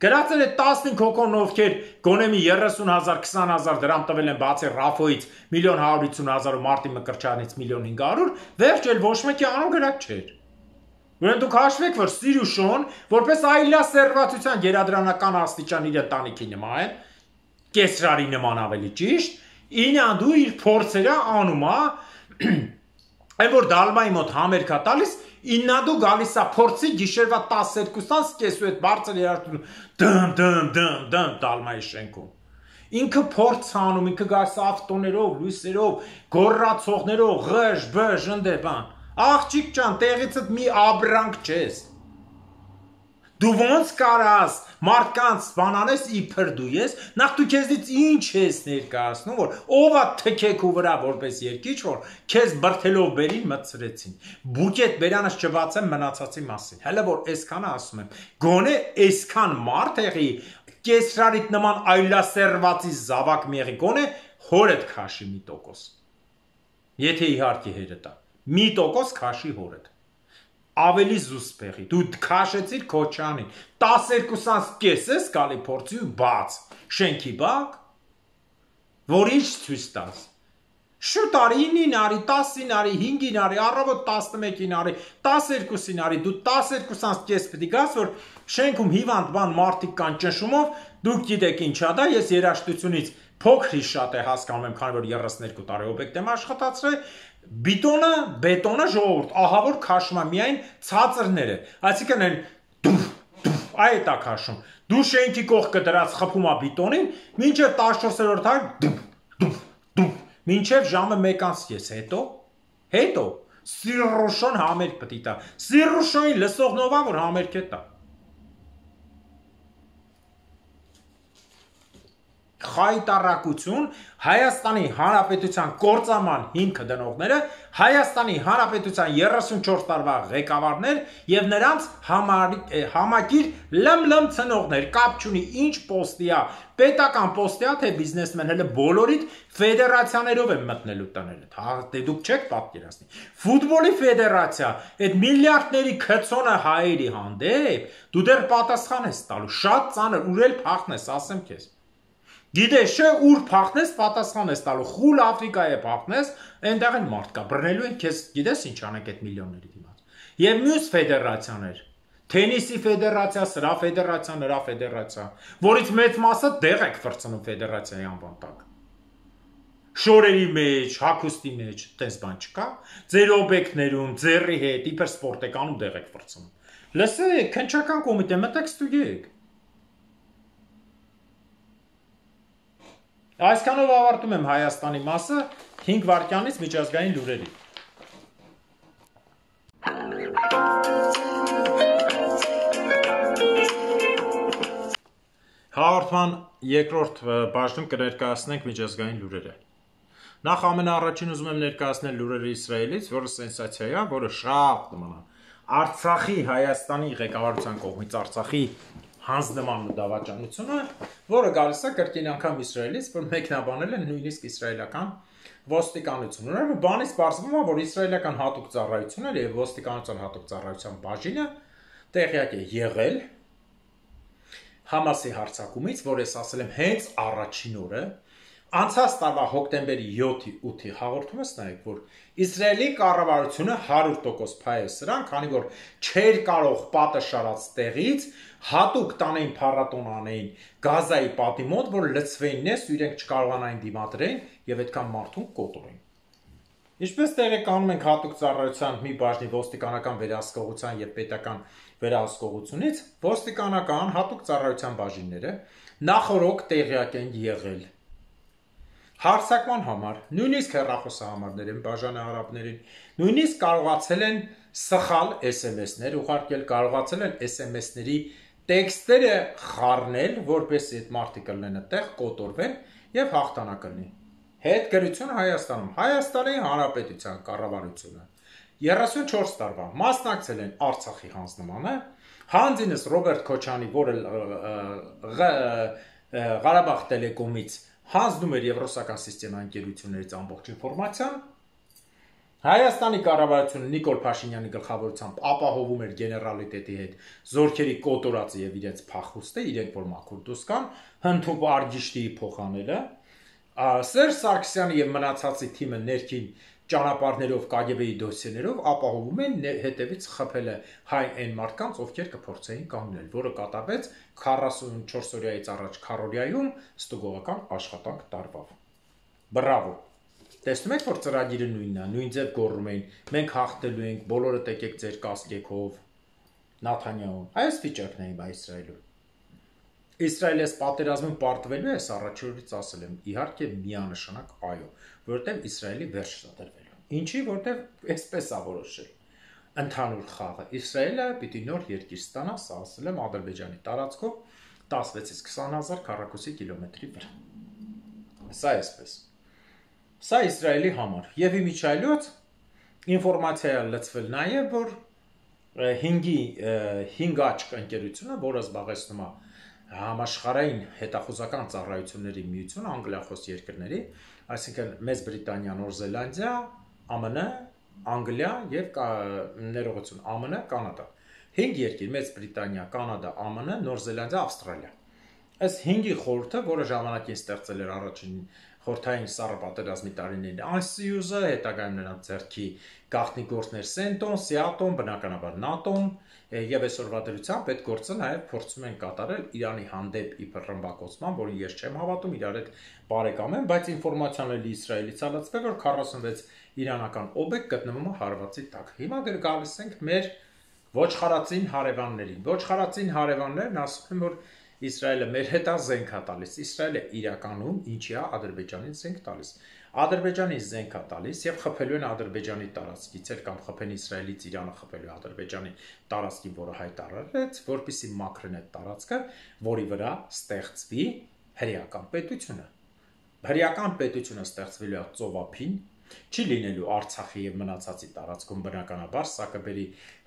գրածել է տասնհինգ հոգոն ովքեր գոնե մի երեսուն հազար, քսան հազար դրամ տվել են բացի Ռաֆոյից միլիոն հարյուր ութսուն հազար ու Մարտի Մկրտչյանից միլիոն հինգ հարյուր, վերջ էլ ոչ մեկի անուն գրած չէր։ Ուրեմն դուք հաշվեք, որ Սիրուշոն որպես այլասերվածության գերադրանական աստիճան իր ընտանիքի նման, կեսրարի նման ավելի ճիշտ, ինանդու իր փորձերը անում է, այն որ դալմայի մոտ համերգա տալիս, ինանդու գալիս է փորձի գիշերվա տասներկուսան սկեսու հետ բարձր երաշտում, դն դն դն դն դալմայի շենքում։ Ինքը փորձ անում, ինքը գալիս ավտոներով, լույսերով, գոռացողներով, ղժ, բժ, ընդ բան։ Աղջիկ ջան, տեղիցդ մի աբրանք չես։ Դու ոնց կարաս մարդկանց բանանես իբր դու ես, նախ դու քեզնից ինչ ես ներկայացնում, որ ով է թքեքու վրա որպես երկիչ, որ քեզ բրթելով բերին մտցրեցին։ Բուկետ բերանս չբացեմ մնացածի մասին։ Հələ որ այսքանը ասում եմ, գոնե այսքան մարդ եղի, կեսրարիտ նման այլասերվածի զավակ մեղի, գոնե հորդ քաշի մի տոկոս։ Եթե իհարկե հերը տա։ Մի տոկոս քաշի հորդ։ ավելի զուսպեղի, դու քաշեցիր Քոչանին, տասներկուսանց կես ես գալի փորձի ու բաց, շենքի բակ, որ ինչ ցույց տաս, շուտ արի ինին արի, տասին արի, հինգին արի, առավոտ տասնմեկին արի, տասներկուսին արի, դու տասներկուսանց կես պիտի գաս, որ շենքում հիվանդ բան մարդիկ կան ճնշումով, դուք գիտեք ինչա դա, ես երաժշտությունից փոքրի շատ է հասկանում եմ, քանի որ երեսներկու տարի օբյեկտ եմ աշխատացրել, բիտոնը, բետոնը ժողովուրդ, ահա որ քաշում է միայն ցածրները, այսինքն այն դուֆ, դուֆ, այդ է քաշում, դու շենքի կողքը դրած խփում է բիտոնին, մինչև տասնչորսերորդ հարկ դուֆ, դուֆ, դուֆ, մինչև ժամը մեկ անց ես, հետո, հետո, Սիրուշոն համերգ պիտի տա, Սիրուշոյին լսողնովա, որ համերգ է տա։ Խայտարակություն Հայաստանի Հանրապետության կործաման հիմքը դնողները, Հայաստանի Հանրապետության երեսունչորս տարվա ղեկավարներ եւ նրանց համակիր լմ-լմ ցնողներ, կապ չունի ինչ պոստիա, պետական պոստիա թե բիզնեսմեն, հələ բոլորիդ ֆեդերացիաներով են մտնելու տները, հա, դե դուք չեք պատկերացնի։ Ֆուտբոլի ֆեդերացիա, այդ միլիարդների քցոնը հայերի հանդեպ, դու դեռ պատասխան ես տալու, շատ ծանր, ուր էլ փախնես, ասեմ քեզ։ Գիտես չէ, ուր փախնես, պատասխան ես տալու, խուլ Աֆրիկայի փախնես, այնտեղ են մարդ կա, բռնելու են քեզ, գիտես ինչ անենք այդ միլիոնների դիմաց։ Եվ մյուս ֆեդերացիաներ, թենիսի ֆեդերացիա, սրա ֆեդերացիա, նրա ֆեդերացիա, որից մեծ մասը դեղ եք վրցնում ֆեդերացիայի անվան տակ։ Շորերի մեջ, հագուստի մեջ, տես բան չկա, ձեր օբյեկտներում, ձեռի հետ, իբր սպորտեկանում դեղ եք վրցնում։ Լսեք, քննչական կոմիտե մտեք ստուգեք։ Այսքանով ավարտում եմ Հայաստանի մասը, հինգ վայրկյանից միջազգային լուրերի։ Հաղորդման երկրորդ բաժնում կներկայացնենք միջազգային լուրերը։ Նախ ամենաառաջին ուզում եմ ներկայացնել լուրերը Իսրայելից, որը սենսացիա է, որը շատ նման է Արցախի Հայաստանի ղեկավարության կողմից Արցախի հանձնման դավաճանությունը, որը գալիս է կրկին անգամ Իսրայելից, որ մեկնաբանել են նույնիսկ իսրայելական ոստիկանությունը։ Ուրեմն բանից պարզվում է, որ իսրայելական հատուկ ծառայությունը եւ ոստիկանության հատուկ ծառայության բաժինը տեղյակ է եղել Համասի հարձակումից, որ ես ասել եմ հենց առաջին օրը, անցած տարվա հոկտեմբերի յոթի ութի հաղորդումս նայեք, որ Իսրայելի կառավարությունը հարյուր տոկոս փայ է սրան, քանի որ չէր կարող պատը շարած տեղից հատուկ տանեին փառատոն անեին Գազայի պատի մոտ, որ լցվեին նես ու իրենք չկարողանային դիմադրեին եւ այդքան մարդուն կոտորեին։ Ինչպես տեղեկանում ենք հատուկ ծառայության մի բաժնի ոստիկանական վերահսկողության եւ պետական վերահսկողությունից, ոստիկանական հատուկ ծառայության բաժինները նախորոք տեղյակ են եղել հարձակման համար, նույնիսկ հեռախոսահամարներ են բաժանահարապներին, նույնիսկ կարողացել են սխալ էս էմ էսներ ուղարկել, կարողացել են էս էմ էսների տեքստերը խառնել, որպեսզի այդ մարդիկ լինեն այդտեղ, կոտորվեն եւ հաղթանակ լինի։ Հետգրություն Հայաստանում, Հայաստանի Հանրապետության կառավարությունը երեսունչորս տարվա մասնակցել են Արցախի հանձնմանը, հանձինս Ռոբերտ Քոչանի, որը Ղարաբաղ տելեկոմից հանձնում էր եվրոսական սիստեմա ընկերություններից ամբողջ ինֆորմացիան, Հայաստանի կառավարությունը Նիկոլ Փաշինյանի գլխավորությամբ ապահովում էր գեներալիտետի հետ զորքերի կոտորածը եւ իրենց փախուստը, իրենք որ մաքուր դուրս կան, հնդուպ արգիշտիի փոխանելը, Սերժ Սարգսյանը եւ մնացածի թիմը ներքին ճանապարհներով Կ Գ Բ-ի դոսիեներով ապահովում են հետևից խփելը հայ այն մարդկանց, ովքեր կփորձեին կանգնել, որը կատարվեց քառասունչորս օրյայից առաջ քառորյայում ստուգողական աշխատանք տարվավ։ Բրավո։ Տեսնում եք, որ ծրագիրը նույնն է, նույն ձև գոռում էին, մենք հաղթելու ենք, բոլորը տեկեք ձեր կասկեքով, Նաթանյահուն, այս վիճակն է իմ Իսրայելում։ Իսրայելը պատերազմում պարտվելու է, առաջին օրից ասել եմ, իհարկե միանշանակ այո, որովհետև Իսրայելի վերջն է դրվելու։ Ինչի, որովհետև այսպես է որոշել։ Ընդհանուր խաղը Իսրայելը պիտի նոր երկիր ստանա, սա ասել եմ Ադրբեջանի տարածքով տասնվեցից քսան հազար քառակուսի կիլոմետրի վրա։ Սա այսպես։ Սա Իսրայելի համար։ Եվ իմիջայլոց ինֆորմացիա է լցվել նաև, որ հինգի հինգ աչք ընկերությունը, որը զբաղեցնում է համաշխարհային հետախուզական ծառայությունների միություն անգլիախոս երկրների, այսինքն Մեծ Բրիտանիա, Նոր Զելանդիա, Ա Մ Ն, Անգլիա եւ ներողություն Α M N, Կանադա։ հինգ երկիր՝ Մեծ Բրիտանիա, Կանադա, Α M N, Նոր Զելանդիա, Ավստրալիա։ Այս հինգի խորհուրդը, որը ժամանակին ստեղծել էր առաջին խորհրդային սառը պատերազմի տարիներին Անսիյուզը, հետագայում նրանց ձեռքի գաղտնի գործներ Սենտոն, Սիատոն, բնականաբար ՆԱՏՕ-ն եւ այսօրվա դրությամբ այդ գործը նաեւ փորձում են կատարել Իրանի հանդեպ իբր ռմբակոծման, որին ես չեմ հավատում, իրար հետ բարեկամ եմ, բայց ինֆորմացիան էլի Իսրայելից ալացվել, որ քառասունվեց իրանական օբյեկտ գտնվում է հարվածի տակ։ Հիմա գալիս ենք մեր ոչխարածին հարևաններին։ Ոչխարածին հարևաններն ասում են, որ Իսրայելը մեր հետ է զենք է տալիս։ Իսրայելը իրականում ինչի է Ադրբեջանին զենք տալիս։ Ադրբեջանին զենք է տալիս եւ խփելու են Ադրբեջանի տարածքից էլ կամ խփեն Իսրայելից Իրանը խփելու Ադրբեջանի տարածքին, որը հայտարարեց, որպեսզի մաքրեն այդ տարածքը, որի վրա ստեղծվի հրեական պետությունը։ Հրեական պետությունը ստեղծվելու է ծովափին, չի լինելու Արցախի եւ մնացածի տարածքում բնականաբար, սա կբերի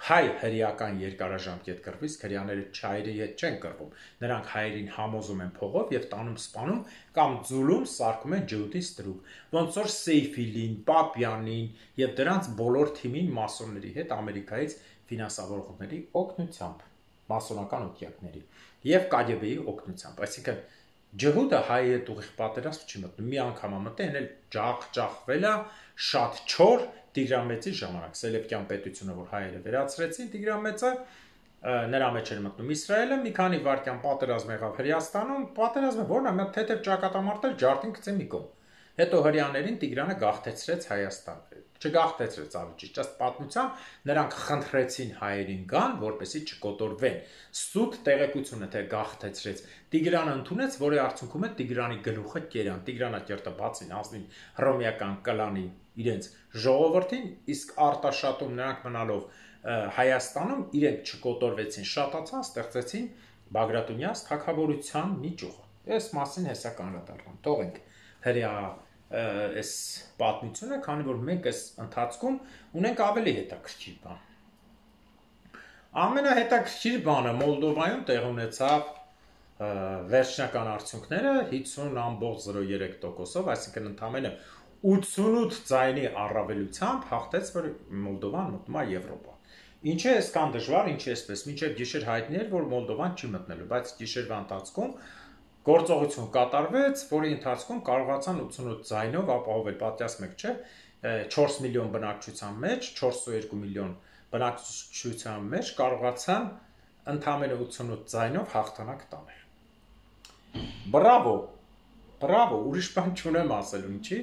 հայ հրեական երկարաժամկետ կռվից, հրեաները չայրի հետ չեն կռվում, նրանք հայերին համոզում են փողով եւ տանում սպանում կամ ձուլում սարքում են ջհուդի ստրուկ, ոնց որ Սեյֆիլին, Պապյանին եւ դրանց բոլոր թիմին մասոնների հետ Ամերիկայից ֆինանսավորողների օգնությամբ, մասոնական օգյակների եւ Կ Գ B-ի օգնությամբ, այսինքն ջհուդը հայի հետ ուղիղ պատերազմ չի մտնում, մի անգամ մտել էլ ջախ-ջախվել է շատ չոր Տիգրան Մեծի ժամանակ, Սելևկյան պետությունը, որ հայերը վերացրեցին, Տիգրան Մեծը նրա մեջ էր մտնում Իսրայելը, մի քանի վայրկյան պատերազմ եղավ Հրեաստանում, պատերազմը որն է, մի թեթև ճակատամարտել ջարդին գցե մի կողմ։ Հետո հրեաներին Տիգրանը գաղթեցրեց Հայաստան, չգաղթեցրեց ավելի ճիշտ, ըստ պատմության նրանք խնդրեցին հայերին գան, որպեսզի չկոտորվեն։ Սուտ տեղեկությունը թե գաղթեցրեց, Տիգրանը ընդունեց, որի արդյունքում է Տիգրանի գլուխը կերան, Տիգրանակերտը բացին ազնին հռոմեական կլանի իրենց ժողովրդին, իսկ Արտաշատում նրանք մնալով Հայաստանում իրենք չկոտորվեցին, շատացան, ստեղծեցին Բագրատունյաց թագավորության մի ճյուղ։ Այս մասին հեսա կանրադառնամ, թողենք հրեա այս պատմությունը, քանի որ մենք այս ընթացքում ունենք ավելի հետաքրքիր բան։ Ամենահետաքրքիր բանը Մոլդովայում տեղ ունեցավ վերջնական արդյունքները հիսուն ամբողջ զրո երեք տոկոսով, այսինքն ընդամենը ութսունութ ձայնի առավելությամբ հաղթեց, որ Մոլդովան մտնում է Եվրոպա։ Ինչ է այսքան դժվար, ինչ է այսպես, մինչև գիշեր հայտնի էր, որ Մոլդովան չի մտնելու, բայց գիշերվա ընթացքում գործողություն կատարվեց, որի ընթացքում կարողացան ութսունութ ձայնով ապահովել, պատկերացնեք, չէ, չորս միլիոն բնակչության մեջ, չորսունութ միլիոն բնակչության մեջ կարողացան ընդամենը ութսունութ ձայնով հաղթանակ տանել։ Բրավո, բրավո, ուրիշ բան չունեմ ասելու, ինչի,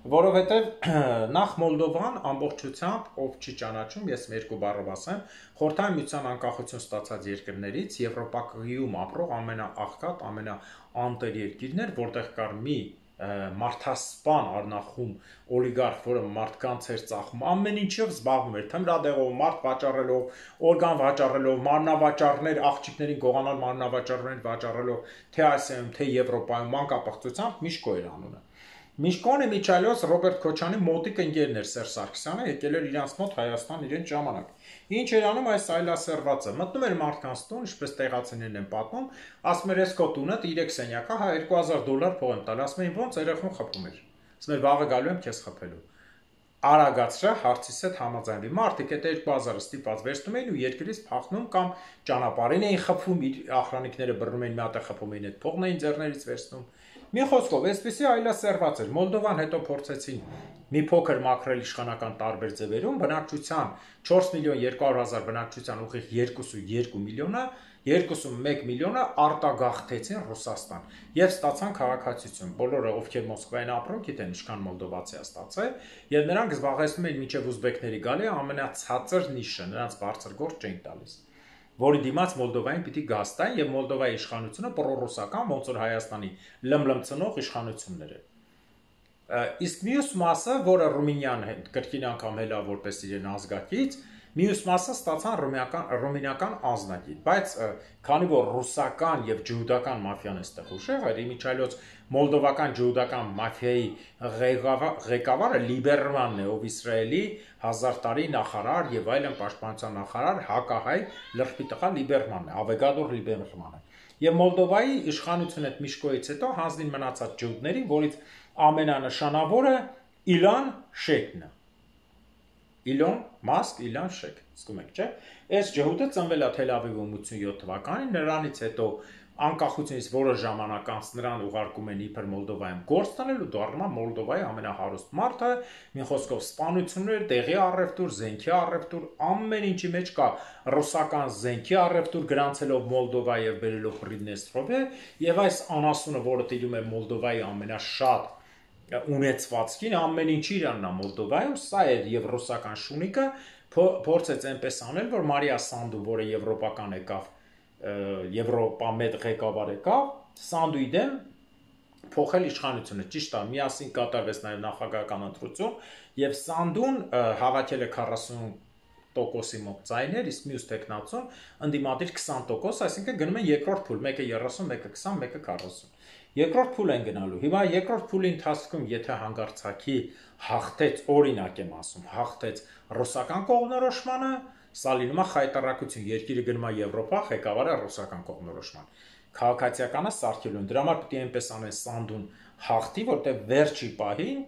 որովհետև նախ Մոլդովան ամբողջությամբ, ով չի ճանաչում, ես երկու բառով ասեմ, Խորհրդային Միության անկախություն ստացած երկրներից Եվրոպայում ապրող ամենաաղքատ, ամենաանտեր երկիրն էր, որտեղ կար մի մարդասպան առնախում օլիգարխ, որը մարդկանց էր ծախում, ամեն ինչով զբաղվում էր, թմրադեղով, մարդ վաճառելով, օրգան վաճառելով, մարմնավաճառներ, աղջիկներին գողանալ մարմնավաճառներ վաճառելով, թե Ասիայում, թե Եվրոպայում, մանկապղծությամբ Միշկո էր անունը։ Միշկոն Միչայլոս Ռոբերտ Քոչյանի մոտիկ ընկերն էր Սերժ Սարգսյանը, եկել էր իրանց մոտ Հայաստան իրեն ժամանակ։ Ինչ էր անում այս այլասերվածը, մտնում էր մարդկանց տուն, ինչպես տեղացիներն են պատմում, ասում էր ես քո տունը երեք սենյակա, հա երկու հազար դոլար փող եմ տալ, ասում էին ոնց երեխուն խփում էր։ Ասում էր վաղը գալու եմ քեզ խփելու։ Արագացրա հարցիս հետ համաձայնվի։ Մարդիկ այդ երկու հազարը ստիպված վերցնում էին ու երկրից փախնում կամ ճանապարհին էին խփում, իր ախրանիկները բռնում էին, մի հատ է խփում էին, այդ փողն էին ձեռներից վերցնում։ Մի խոսքով, այսպեսի այլասերված էր։ Մոլդովան հետո փորձեցին մի փոքր մաքրել իշխանական տարբեր ձևերում, բնակչության չորս միլիոն երկու հարյուր հազար բնակչության ուղիղ երկու միլիոնը, երկուքսունմեկ միլիոնը արտագաղթեցին Ռուսաստան եւ ստացան քաղաքացիություն։ Բոլորը, ովքեր Մոսկվային ապրում, գիտեն ինչքան մոլդովացի է ստացել, եւ նրանք զբաղեցնում էին մինչեւ ուզբեկների գալի ամենացածր նիշը, նրանց բարձր գործ չէին տալիս, որի դիմաց Մոլդովային պիտի գաստային եւ Մոլդովայի իշխանությունը պրոռուսական, ոնց որ Հայաստանի լմլմցնող իշխանություններ է։ Իսկ մյուս մասը, որը Ռումինիան կրկին անգամ հելա որպես իրեն ազգակից, մյուս մասը ստացան ռումինական ռումինական ազնագիր, բայց քանի որ ռուսական եւ ջհուդական մաֆիան էստեղ ուժեղ էր, իմիջայլոց մոլդովական ջհուդական մաֆիայի ղեկավարը Լիբերմանն է, ով Իսրայելի հազար տարի նախարար եւ այլն պաշտպանության նախարար, հակահայ լրբի տղա Լիբերմանն է, Ավեգադոր Լիբերմանը։ Եվ Մոլդովայի իշխանությունը այդ Միշկոից հետո հանձնին մնացած ջհուդներին, որից ամենանշանավորը Իլան Շեյքն է։ Իլոն Մասկ, Իլան Շեք, զգում եք, չէ՞։ Այս ջհուդը ծնվել է Թել Ավիվում ութսունյոթ թվականին, նրանից հետո անկախությունից որոշ ժամանակ անց նրան ուղարկում են իբր Մոլդովայում գործ տանելու, դառնում է Մոլդովայի ամենահարուստ մարդը, մի խոսքով սպանություններ, տեղի առևտուր, զենքի առևտուր, ամեն ինչի մեջ կա ռուսական զենքի առևտուր, գրանցելով Մոլդովա եւ բերելով Պրիդնեստրովե, եւ այս անասունը, որը տիրում է Մոլդովայի ամենաշատ ունեցվածքին, ամեն ինչի իրանն է Մոլդովայում, սա էր եւ ռուսական շունիկը փորձեց այնպես անել, որ Մարիա Սանդու, որը եվրոպական եկավ, Եվրոպա մեծ ղեկավար եկավ, Սանդուի դեմ փոխել իշխանությունը, ճիշտ է, միասին կատարվեց նաև նախագահական ընտրություն, եւ Սանդուն հավաքել է քառասուն տոկոսի մոտ ձայներ, իսկ մյուս տեխնացուն ընդդիմադիր քսան տոկոս, այսինքն գնում են երկրորդ փուլ, մեկը երեսուն, մեկը քսան, մեկը քառասուն։ Երկրորդ փուլ են գնալու։ Հիմա երկրորդ փուլի ընթացքում, եթե հանգարցակի հաղթեց, օրինակ եմ ասում, հաղթեց ռուսական կողմնորոշմանը, սա լինում է խայտարակություն, երկիրը գնում է Եվրոպա, ղեկավարը ռուսական կողմնորոշման։ Քաղաքացիականը սարքելու են։ Դրա համար պետք է այնպես անեն Սանդուն հաղթի, որտեղ վերջի պահին,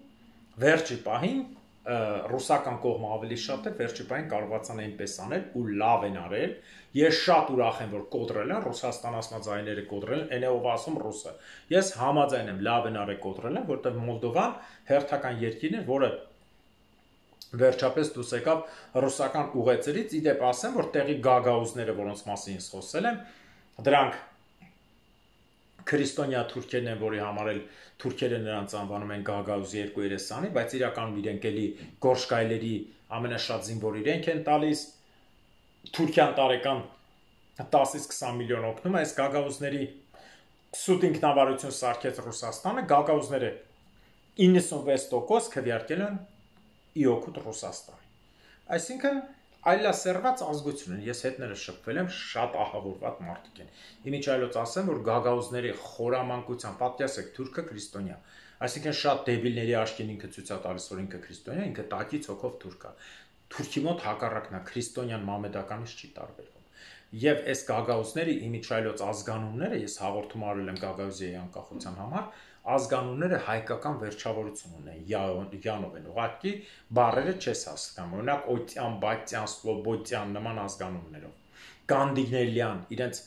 վերջի պահին ռուսական կողմը ավելի շատ էր, վերջի պահին կարողացան այնպես անել ու լավ են արել։ Ես շատ ուրախ եմ, որ կոտրել են Ռուսաստան ասած այները կոտրել են, այն է ով ասում ռուսը։ Ես համաձայն եմ, լավ են արել կոտրել են, որտեղ Մոլդովան հերթական երկիրն է, որը վերջապես դուրս եկավ ռուսական ուղեծրից, իդեպ ասեմ, որ տեղի գագաուզները, որոնց մասին ես խոսել եմ, դրանք քրիստոնյա թուրքերն են, որի համար էլ թուրքերը նրանց անվանում են գագաուզ երկու երեսանի, բայց իրականում իրենք էլի գորշկայլերի ամենաշատ զինվոր իրենք են տալիս, Թուրքիան տարեկան տասից քսան միլիոն օգնում է, այս գագաուզների սուտ ինքնավարություն սարքեց Ռուսաստանը, գագաուզները իննսունվեց տոկոս քվեարկել են ի օգուտ Ռուսաստանի։ Այսինքն այլասերված ազգություն են, ես հետները շփվել եմ, շատ ահավորված մարդիկ են։ Իմիջ այլոց ասեմ, որ գագաուզների խորամանկության պատկասեք թուրքը քրիստոնյա, այսինքն շատ դեբիլների աչքին ինքը ցույց է տալիս, որ ինքը քրիստոնյա, ինքը տակից հոգով թուրք է։ Թուրքի մոտ հակառակն է, քրիստոնյան մամեդականից չի տարբերվում։ Եվ այս գագաուզները իմիջ այլոց ազգանունները, ես հաղորդում արել եմ Գագաուզիայի անկախության համար, ազգանունները հայկական վերջավորություն ունեն, յանով են, ուղղակի բառերը չես հասկանում, օրինակ Օտյան, Բատյան, Սլոբոդյան նման ազգանուններով։ Գանդինելյան, իրենց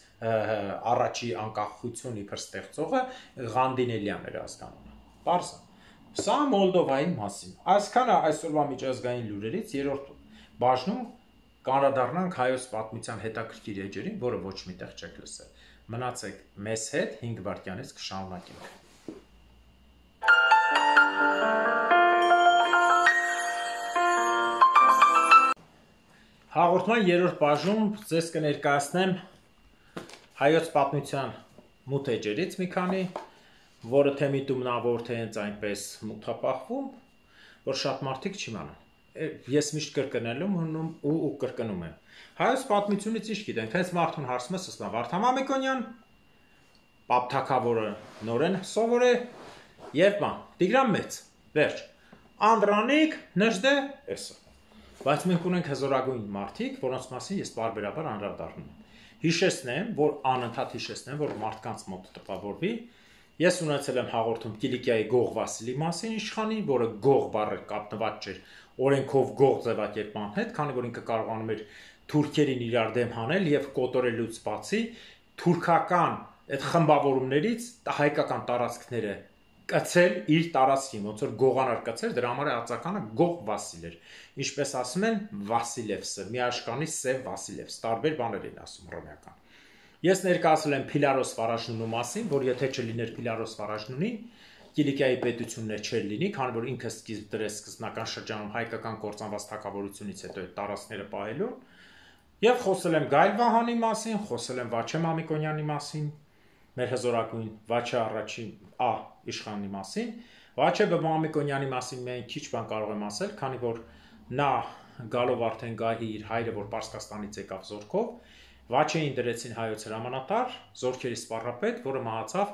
առաջի անկախություն իբր ստեղծողը Գանդինելյան էր ազգանունը։ Պարզ է։ Սա Մոլդովայի մասին։ Այսքանը այսօրվա միջազգային լուրերից երրորդ բաժնում կանդրադառնանք հայոց պատմության հետաքրքիր էջերին, որը ոչ միտեղ չեք լսել։ Մնացեք մեզ հետ, հինգ վայրկյանից կշարունակենք։ Հաղորդման երրորդ բաժնում ձեզ կներկայացնեմ հայոց պատմության մութ էջերից մի քանի, որը թե միտում նա որ թե հենց այնպես մութապահվում, որ շատ մարդիկ չիմանան։ Ես միշտ կրկնելու եմ ու ու կրկնում եմ։ Հայոց պատմությունից ինչ գիտենք, հենց մարդուն հարցում է սսնա Վարդան Մամիկոնյան, Պապ Թագավորը նորեն սովոր է եւ բան, Տիգրան Մեծ, վերջ, Անդրանիկ, Նժդե, էսը։ Բայց մենք ունենք հզորագույն մարդիկ, որոնց մասին ես բարբերաբար անդրադառնում եմ։ Հիշեցնեմ, որ անընդհատ հիշեցնեմ, որ մարդկանց մոտ տպավորվի։ Ես ունեցել եմ հաղորդում Կիլիկիայի Գող Վասիլի մասին իշխանի, որը Գող բառը կապնված չէր օրենքով Գող ձևակերպման հետ, քանի որ ինքը կարողանում էր թուրքերին իրար դեմ հանել եւ կոտորելուց բացի թուրքական այդ խմբավորումներից հայկական տարածքները կցել իր տարածքին, ոնց որ Գողանար կցել, դրա համար ածականը Գող Վասիլ էր։ Ինչպես ասում են Վասիլևսը, միաշկանի Սև Վասիլևս, տարբեր բաներ են ասում հռոմեական։ Ես ներկայացրել եմ Փիլարոս Վարաժնունու մասին, որ եթե չլիներ Փիլարոս Վարաժնունին, Կիլիկիայի պետություններ չէր լինի, քանի որ ինքը սկիզբ դրեց սկզբնական շրջանում հայկական կործանված թագավորությունից հետո այդ տարածքները պահելու։ Եվ խոսել եմ Գայլ Վահանի մասին, խոսել եմ Վաչե Մամիկոնյանի մասին, մեր հզորագույն Վաչե առաջին Ա իշխանի մասին, Վաչե Մամիկոնյանի մասին մենք քիչ բան կարող եմ ասել, քանի որ նա գալով արդեն գահի իր հայրը, որ Պարսկաստանից եկավ զորքով, Վաչեին դրեցին հայոց հրամանատար, զորքերի սպառապետ, որը մահացավ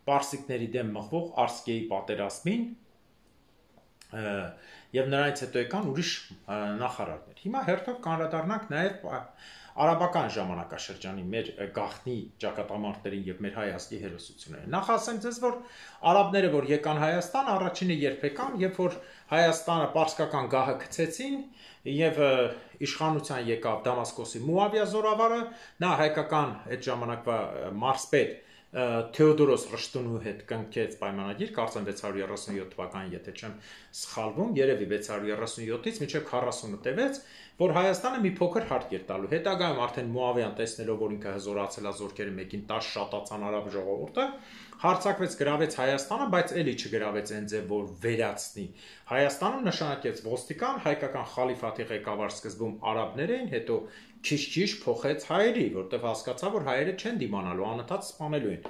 պարսիկների դեմ մղվող Արսկեի պատերազմին, եւ նրանից հետո եկան ուրիշ նախարարներ։ Հիմա հերթով կանրադառնանք նաեւ արաբական ժամանակաշրջանի մեր գաղտնի ճակատամարտերին եւ մեր հայաստանի հերոսություններին։ Նախ ասեմ ձեզ, որ արաբները, որ եկան Հայաստան, առաջինը երբ եկան, երբ որ Հայաստանը պարսկական գահը գցեցին եւ իշխանության եկավ Դամասկոսի Մուավիա զորավարը, նա հայկական այդ ժամանակվա մարզպետ Թեոդորոս Ռշտունու հետ կնքեց պայմանագիր, կարծեմ վեց հարյուր երեսունյոթ թվականին, եթե չեմ սխալվում, երևի վեց հարյուր երեսունյոթից մինչև քառասունը տևեց, որ Հայաստանը մի փոքր հարկ էր տալու։ Հետագայում արդեն Մուավիան տեսնելով, որ ինքը հզորացել է զորքերը մեկին տասը շատացան արաբ ժողովուրդը, հարձակվեց, գրավեց Հայաստանը, բայց էլի չգրավեց այն ձև, որ վերացնի։ Հայաստանում նշանակեց ոստիկան, հայկական խալիֆաթի ղեկավար սկզբում արաբներ էին, հետո քիչ-քիչ փոխեց հայերի, որտեղ հասկացա, որ հայերը չեն դիմանալու, անընդհատ սպանելու են։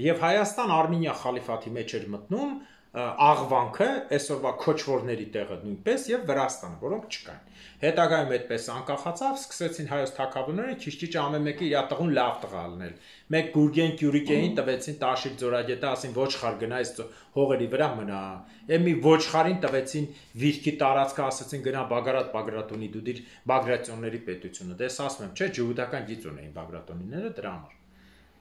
Եվ Հայաստան Արմենիա խալիֆաթի մեջ էր մտնում Աղվանքը, այսօրվա քոչվորների տեղը նույնպես եւ Վրաստանը, որոնք չկային։ Հետագայում այդպես անկախացավ, սկսեցին հայոց թագավորները քիչ-քիչ ամեն մեկը իր տղուն լավ տղա ալնել։ Մեկ Գուրգեն Կյուրիկեին տվեցին Տաշիր ձորագետը, ասին ոչխար գնա այս հողերի վրա մնա։ Եվ մի ոչխարին տվեցին Վիրքի տարածքը, ասացին գնա Բագրատ Բագրատունի դու դիր Բագրատյոնների պետությունը։ Դες ասում եմ, չէ, ջուդական գիծ ունեին Բագրատունիները դրա համար։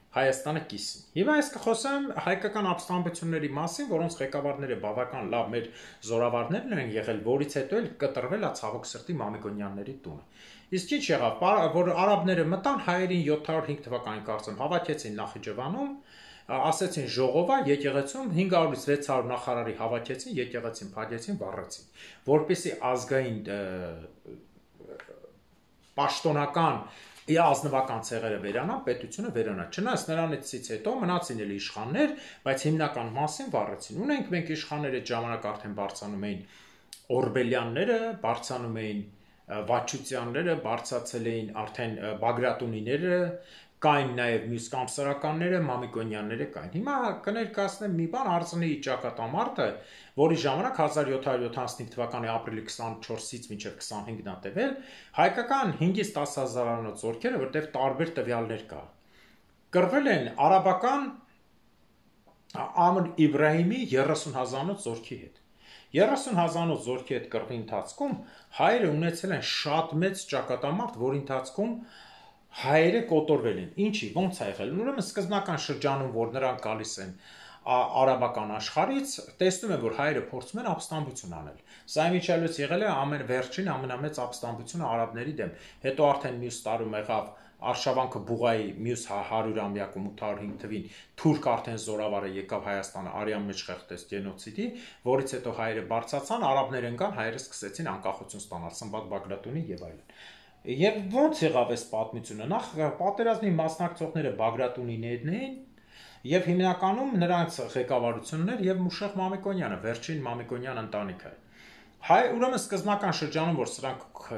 Հայաստանը կիսին։ Հիմա ես կխոսեմ հայկական ապստամբությունների մասին, որոնց ղեկավարները բավական լավ մեր զորավարներն են եղել, որից հետո էլ կտրվել է ցավոք սրտի Մամիկոնյանների տունը։ Իսկ ինչ եղավ, որ արաբները մտան հայերին յոթ հարյուր հինգ թվականին կարծեմ հավաքեցին Նախիջևանում, ասեցին ժողովա եկեղեցում հինգ հարյուրից վեց հարյուր նախարարի հավաքեցին, եկեղեցին փակեցին, վառեցին, որպեսզի ազգային պաշտոնական ազնվական ցեղերը վերանան, պետությունը վերանա։ Չնայած նրանից հետո մնացին էլ իշխաններ, բայց հիմնական մասին վառեցին։ Ունենք մենք իշխաններ այդ ժամանակ արդեն բարձանում էին Օրբելյանները, բարձանում էին Վաչուտյանները, բարձացել էին արդեն Բագրատունիները, կային նաև մյուս կամսարականները, Մամիկոնյանները կային։ Հիմա կներկայացնեմ մի բան, Արցունի ճակատամարտը, որի ժամանակ հազար յոթ հարյուր յոթանասունհինգ թվականի ապրիլի քսանչորսից մինչև քսանհինգն է տևել, հայկական հինգից տասը հազարանոց զորքերը, որտեղ տարբեր տվյալներ կա, կռվել են արաբական Ամր Իբրահիմի երեսուն հազարանոց զորքի հետ։ երեսուն հազարանոց զորքի հետ կռվի ընթացքում հայերը ունեցել են շատ մեծ ճակատամարտ, որի ընթացքում հայերը կոտորվել են։ Ինչի, ո՞նց է եղել։ Ուրեմն սկզբնական շրջանում, որ նրանք գալիս են արաբական աշխարհից, տեսնում են, որ հայերը փորձում են ապստամբություն անել։ Սա իմիջիայլոց եղել է ամենվերջին ամենամեծ ապստամբությունը արաբների դեմ։ Հետո արդեն մյուս տարում եղավ Արշավանքը Բուղայի մյուս հարյուրամյակում ութ հարյուր հինգ թվին թուրք արդեն զորավարը եկավ Հայաստանը արյան մեջ խեղդեց գենոցիդի, որից հետո հայերը բարձացան, արաբներ ընկան, հայերը սկսեցին անկախություն ստանալ, Սմբատ Բագրատունի եւ այլն։ Եվ ո՞նց եղավ այս պատմությունը։ Նախ պատերազմի մասնակցողները Բագրատունիներն էին եւ հիմնականում նրանց ղեկավարություններ եւ Մուշեղ Մամիկոնյանը, վերջին Մամիկոնյան ընտանիքը։ Հայ ուրեմն սկզբնական շրջանում, որ սրանք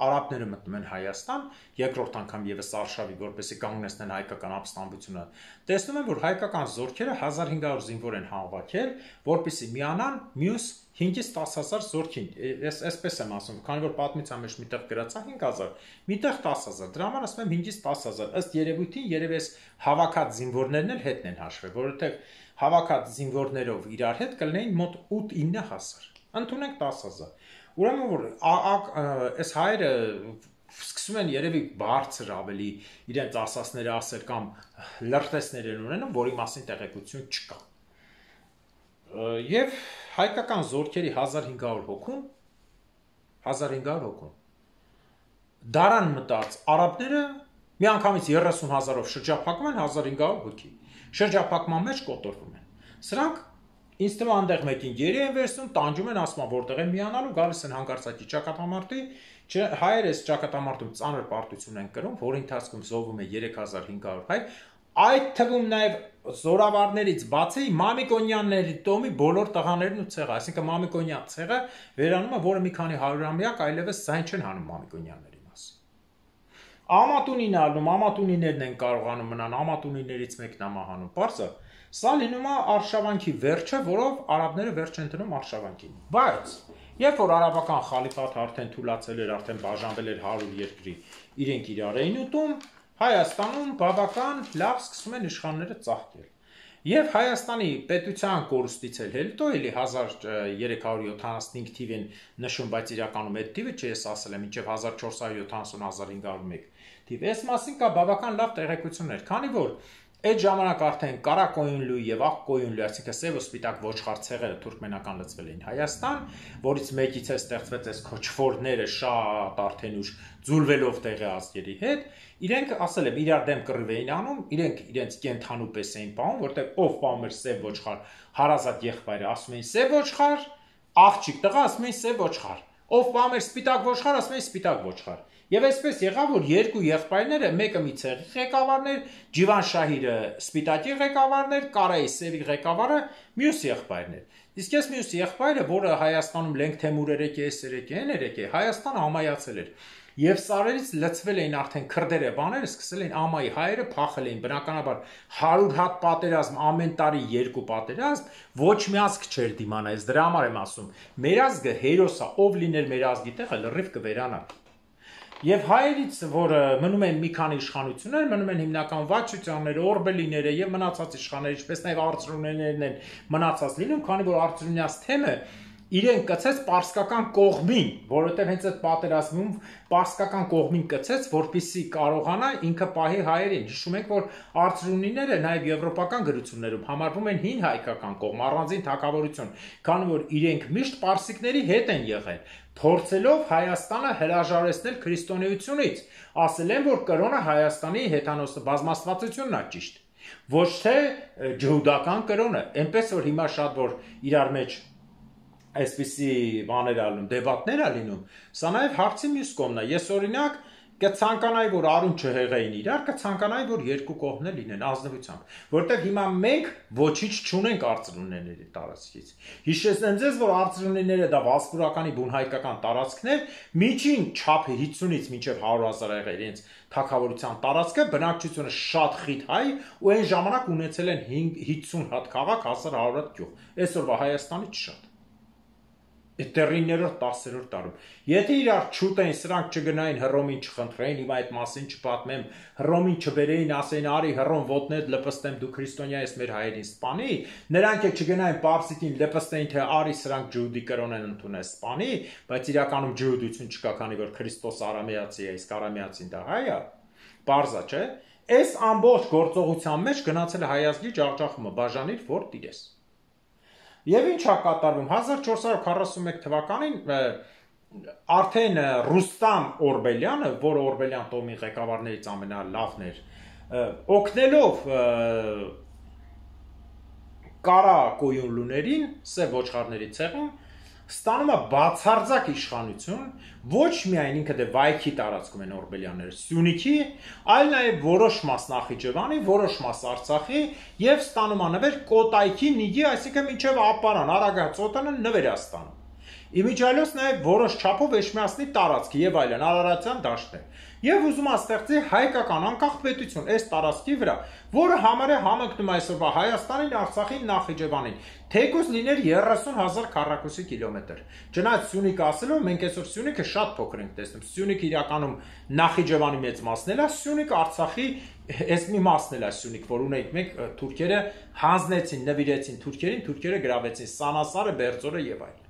արաբները մտնում են Հայաստան, երկրորդ անգամ եւս արշավի, որպեսզի կանգնեցնեն հայկական ապստամբությունը, տեսնում են, որ հայկական զորքերը հազար հինգ հարյուր զինվոր են հավաքել, որպեսզի միանան մյուս հինգից տասը հազար զորքին, ես այսպես եմ ասում, քանի որ պատմության մեջ միտեղ գրած է հինգ հազար, միտեղ տասը հազար, դրա համար ասում եմ հինգից տասը հազար, ըստ երևույթին երևի այս հավաքած զինվորներն էլ հետն են հաշվել, որովհետև հավաքած զինվորներով իրար հետ կլինեին մոտ ութ ինը հազար, ընդունենք տասը հազար, ուրեմն որ այս հայերը սկսում են երևի բարձր ավելի իրենց ասասները ասել կամ լրտեսներ են ունենում, որի մասին տեղեկություն չկա։ Եվ հայկական զորքերի հազար հինգ հարյուր հոգուն, հազար հինգ հարյուր հոգուն, դարան մտած արաբները միանգամից երեսուն հազարով շրջափակում են հազար հինգ հարյուր հոգի, շրջափակման մեջ կոտորվում են։ Սրանք ինձ թվում այնտեղ մեկին գերի են վերցնում, տանջում են, ասում են որտեղ են միանալու, գալիս են հանկարծակի ճակատամարտի, հայերը այս ճակատամարտում ծանր պարտություն են կրում, որի ընթացքում զոհվում է երեք հազար հինգ հարյուր հայ, այդ թվում նաև զորավարներից բացի Մամիկոնյանների տոմի բոլոր տղաներն ու ցեղը, այսինքն Մամիկոնյան ցեղը վերանում է, որը մի քանի հարյուրամյակ այլևս զայն չեն հանում Մամիկոնյանների մասին։ Ամատունին ալնում, ամատունիներն են կարողանում մնան, ամատունիներից մեկն է մահանում, պարզը։ Սա լինում է արշավանքի վերջը, որով արաբները վերջ են դնում արշավանքին։ Բայց երբ որ արաբական խալիֆաթը արդեն թուլացել էր, արդեն բաժանվել էր հարյուր երկրի, իրենք իրար էին ուտում, Հայաստանում բավական լավ սկսում են իշխանները ծաղկել։ Եվ Հայաստանի պետության կորուստից էլ հետո էլի հազար երեք հարյուր յոթանասունհինգ թիվին նշում, բայց իրականում այդ թիվը չի, ես ասել եմ, մինչև հազար չորս հարյուր յոթանասուն - հազար հինգ հարյուր մեկ թիվ։ Այս մասին կա բավական լավ տեղեկություններ, քանի որ այդ ժամանակ արդեն կարակոյունլու եւ աղկոյունլու, այսինքն սև ու սպիտակ ոչխար ցեղերը թուրքմենական լծվել էին Հայաստան, որից մեկից է ստեղծվեց այս քոչվորները շատ արդեն ուշ ձուլվելով տեղի ազգերի հետ, իրենք ասել եմ իրար դեմ կռիվ էին անում, իրենք իրենց կենթանու պես էին պահում, որտեղ ով պահում էր սև ոչխար, հարազատ եղբայրը ասում էին սև ոչխար, աղջիկ տղա ասում էին սև ոչխար, ով պահում էր սպիտակ ոչխար, ասում էին սպիտակ ոչխար։ Եվ այսպես եղավ, որ երկու եղբայրները, մեկը մի ցեղի ղեկավարներ, Ջիվանշահիրը սպիտակի ղեկավարներ, Կարայի սևի ղեկավարը մյուս եղբայրներ։ Իսկ այս մյուս եղբայրը, որը Հայաստանում Լենգ Թեմուրեր եկե, էսեր եկե, հեներ եկե, Հայաստանը ամայացել էր։ Եվ սարերից լցվել էին արդեն քրդերը բաները, սկսել էին ամայի հայերը փախել էին, բնականաբար հարյուր հատ պատերազմ, ամեն տարի երկու պատերազմ, ոչ մի ազգ չէր դիմանա, ես դրա համար եմ ասում, մեր ազգը հերոս է, ով լիներ մեր ազգի տեղը լրիվ կվերանա։ Եվ հայերից, որ մնում են մի քանի իշխանություններ, մնում են հիմնական վաչուտյանները, օրբելիները եւ մնացած իշխանները, ինչպես նաեւ արծրունիներն են մնացած լինում, քանի որ արծրունյաց թեմը իրեն կցեց պարսկական կողմին, որովհետև հենց այդ պատերազմում պարսկական կողմին կցեց, որպեսզի կարողանա ինքը պահի հայերին։ Հիշում եք, որ արծրունիները նաև եվրոպական գրություններում համարվում են հին հայկական կողմ, առանձին թագավորություն, քանի որ իրենք միշտ պարսիկների հետ են եղել, փորձելով Հայաստանը հրաժարեցնել քրիստոնեությունից, ասել են, որ կրոնը Հայաստանի հեթանոս բազմաստվածությունն է ճիշտ, ոչ թե ջհուդական կրոնը, այնպես որ հիմա շատ որ իրար մեջ այսպիսի բաներ ալնում, դեբատներ ա լինում, սա նաև հարցի մյուս կողմն է, ես օրինակ կցանկանայի, որ արուն չհեղեին իրար, կցանկանայի, որ երկու կողմներ լինեն ազնվությամբ, որտեղ հիմա մենք ոչինչ չունենք արծրունիների տարածքից։ Հիշեցնեմ ձեզ, որ արծրունիները դա վասպուրականի բունհայկական տարածքներ, միջին չափը հիսունից մինչև հարյուր հազար եղել իրենց թագավորության տարածքը, բնակչությունը շատ խիտ հայ ու այն ժամանակ ունեցել են հիսուն հատ քաղաք, հազար հարյուր հատ գյուղ, այսօրվա Հայաստանից շատ։ Տերիներորդ տասերորդ տարում։ Եթե իրար չուտեն, սրանք չգնային Հռոմին չխնդրեին, հիմա այդ մասին չպատմեմ, Հռոմին չբերեին, ասեին արի Հռոմ ոտնեդ լպստեմ դու քրիստոնյա ես մեր հայերին սպանի, նրանք էլ չգնային պարսիկին լպստեին, թե արի սրանք ջհուդի կրոն են ընդունել սպանի, բայց իրականում ջհուդություն չկա, քանի որ Քրիստոս արամեացի է, իսկ արամեացին դա հայ է, պարզա չէ։ Այս ամբողջ գործողության մեջ գնացել է հայ ազգի ջախջախումը, բաժանիր որ տիրես։ Եվ ինչ է կատարվում հազար չորս հարյուր քառասունմեկ թվականին արդեն Ռուստամ Օրբելյանը, որը Օրբելյան տոհմի ղեկավարներից ամենալավն էր, օգնելով կարակոյունլուներին, սև ոչխարների ցեղին, ստանում է բացարձակ իշխանություն, ոչ միայն ինքը դե վայքի տարածքում են օրբելյանները, Սյունիքի, այլ նաև որոշ մաս Նախիջևանի, որոշ մաս Արցախի եւ ստանում է նվեր Կոտայքի, Նիգի, այսինքն մինչեւ Ապարան, Արագածոտանը նվեր է ստանում։ Իմիջիայլոց նաև որոշ չափով Էջմիածնի տարածքը եւ այլն, Արարատյան դաշտը։ Եվ ուզում է ստեղծի հայկական անկախ պետություն այս տարածքի վրա, որը համարյա համընկնում է այսօրվա Հայաստանին, Արցախին, Նախիջևանին, թեկուզ լիներ երեսուն հազար քառակուսի կիլոմետր։ Չնայած Սյունիքը ասելով, մենք այսօր Սյունիքը շատ փոքր ենք տեսնում։ Սյունիքը իրականում Նախիջևանի մեծ մասն է, Սյունիքը Արցախի այս մի մասն է Սյունիք, որ ունենք մենք թուրքերը հանձնեցին, նվիրեցին թուրքերին, թուրքերը գրավեցին Սանասարը, Բերձորը եւ այլն։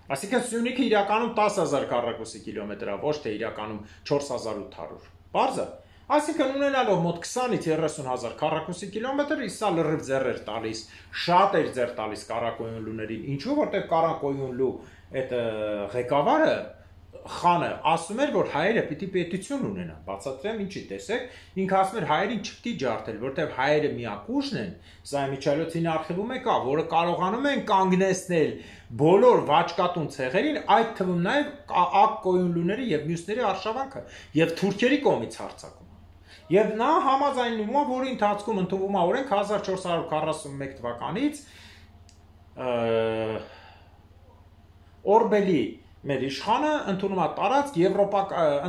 Այսինքն Սյունիքը իրականում տասը հազար քառակուսի կիլոմետր է, ոչ թե իրականում չորս հազար ութ հարյուր։ Պարզ է։ Այսինքն ունենալով մոտ քսանից երեսուն հազար քառակուսի կիլոմետր, իսա լրիվ ձեռ էր տալիս, շատ էր ձեռ տալիս Կարակոյունլուներին։ Ինչու, որտեղ Կարակոյունլու այդ ղեկավարը խանը ասում էր, որ հայերը պիտի պետություն ունենան, բացատրեմ ինչի, տեսեք, ինքը ասում էր հայերին չպիտի ջարդել, որտեղ հայերը միակ ուժն են, սա Միչայլոցին արխիվում է կա, որը կարողանում են կանգնեցնել բոլոր վաճկատուն ցեղերին, այդ թվում նաև ակկոյունլուների եւ մյուսների արշավանքը եւ թուրքերի կողմից հարձակումը։ Եվ նա համաձայնում է, որի ընթացքում ընդունվում է օրենք հազար չորս հարյուր քառասունմեկ թվականից Օրբելի մեր իշխանը ընդունում է տարածք, Եվրոպա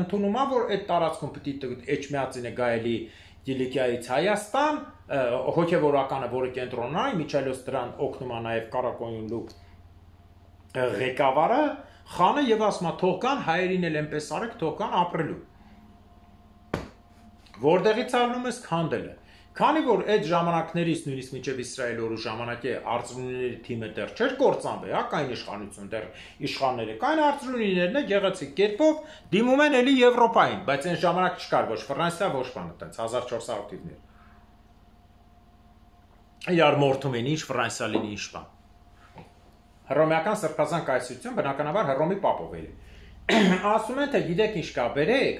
ընդունում է, որ այդ տարածքում պիտի Էջմիածինը գայելի Կիլիկիայից Հայաստան, հոգևորականը, որը կենտրոնն է, Միչայլոց դրան օգնում է նաև Կարակոյունլու ղեկավարը, խանը եւ ասում է թող կան հայերին էլ այնպես արեք, թող կան ապրելու։ Որտեղից առնում ես քանդելը։ Քանի որ այդ ժամանակներից նույնիսկ մինչև Իսրայելի օրու ժամանակի արծրունիների թիմը դեռ չէր կործանվել, հա, կային իշխանություն, դեռ իշխանները կային, արծրունիներն է գեղեցիկ կերպով դիմում են էլի Եվրոպային, բայց այն ժամանակ չկար ոչ Ֆրանսիա, ոչ բան, այդպես հազար չորս հարյուրներ։ Իրար մորթում են ինչ Ֆրանսիա լինի ինչ բան։ Հռոմեական սրբազան կայսրություն բնականաբար Հռոմի պապով էլի։ Ասում են թե գիտեք ինչ կա, բերեք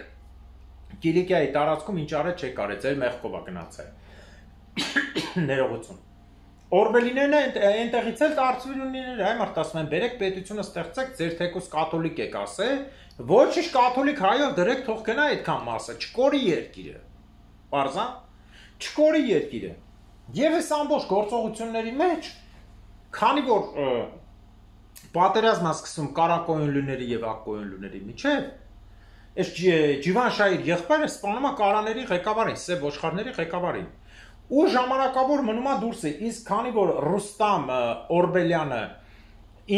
Կիլիկիայի տարածքում ինչ արեց չեք արեց, ձեր մեղքով է գնացել։ Ներողություն։ Օրբելիներն այնտեղից էլ արծվիրունիներ, այ մարդ ասում են, բերեք պետությունը ստեղծեք, ձեր թեկուս կաթոլիկ եք ասել, ոչինչ կաթոլիկ հայով դրեք թող գնա այդքան մասը, չկորի երկիրը։ Պարզա, չկորի երկիրը։ Եվ այս ամբողջ գործողությունների մեջ, քանի որ պատերազմ է սկսում կարակոյունլուների եւ ակկոյունլուների միջեւ, այս Ջիվանշահիր եղբայրը սպանում է կարաների ղեկավարին, սև ոչխարների ղեկավարին։ Ու ժամանակավոր մնում է դուրսը, իսկ քանի որ Ռուստամ Օրբելյանը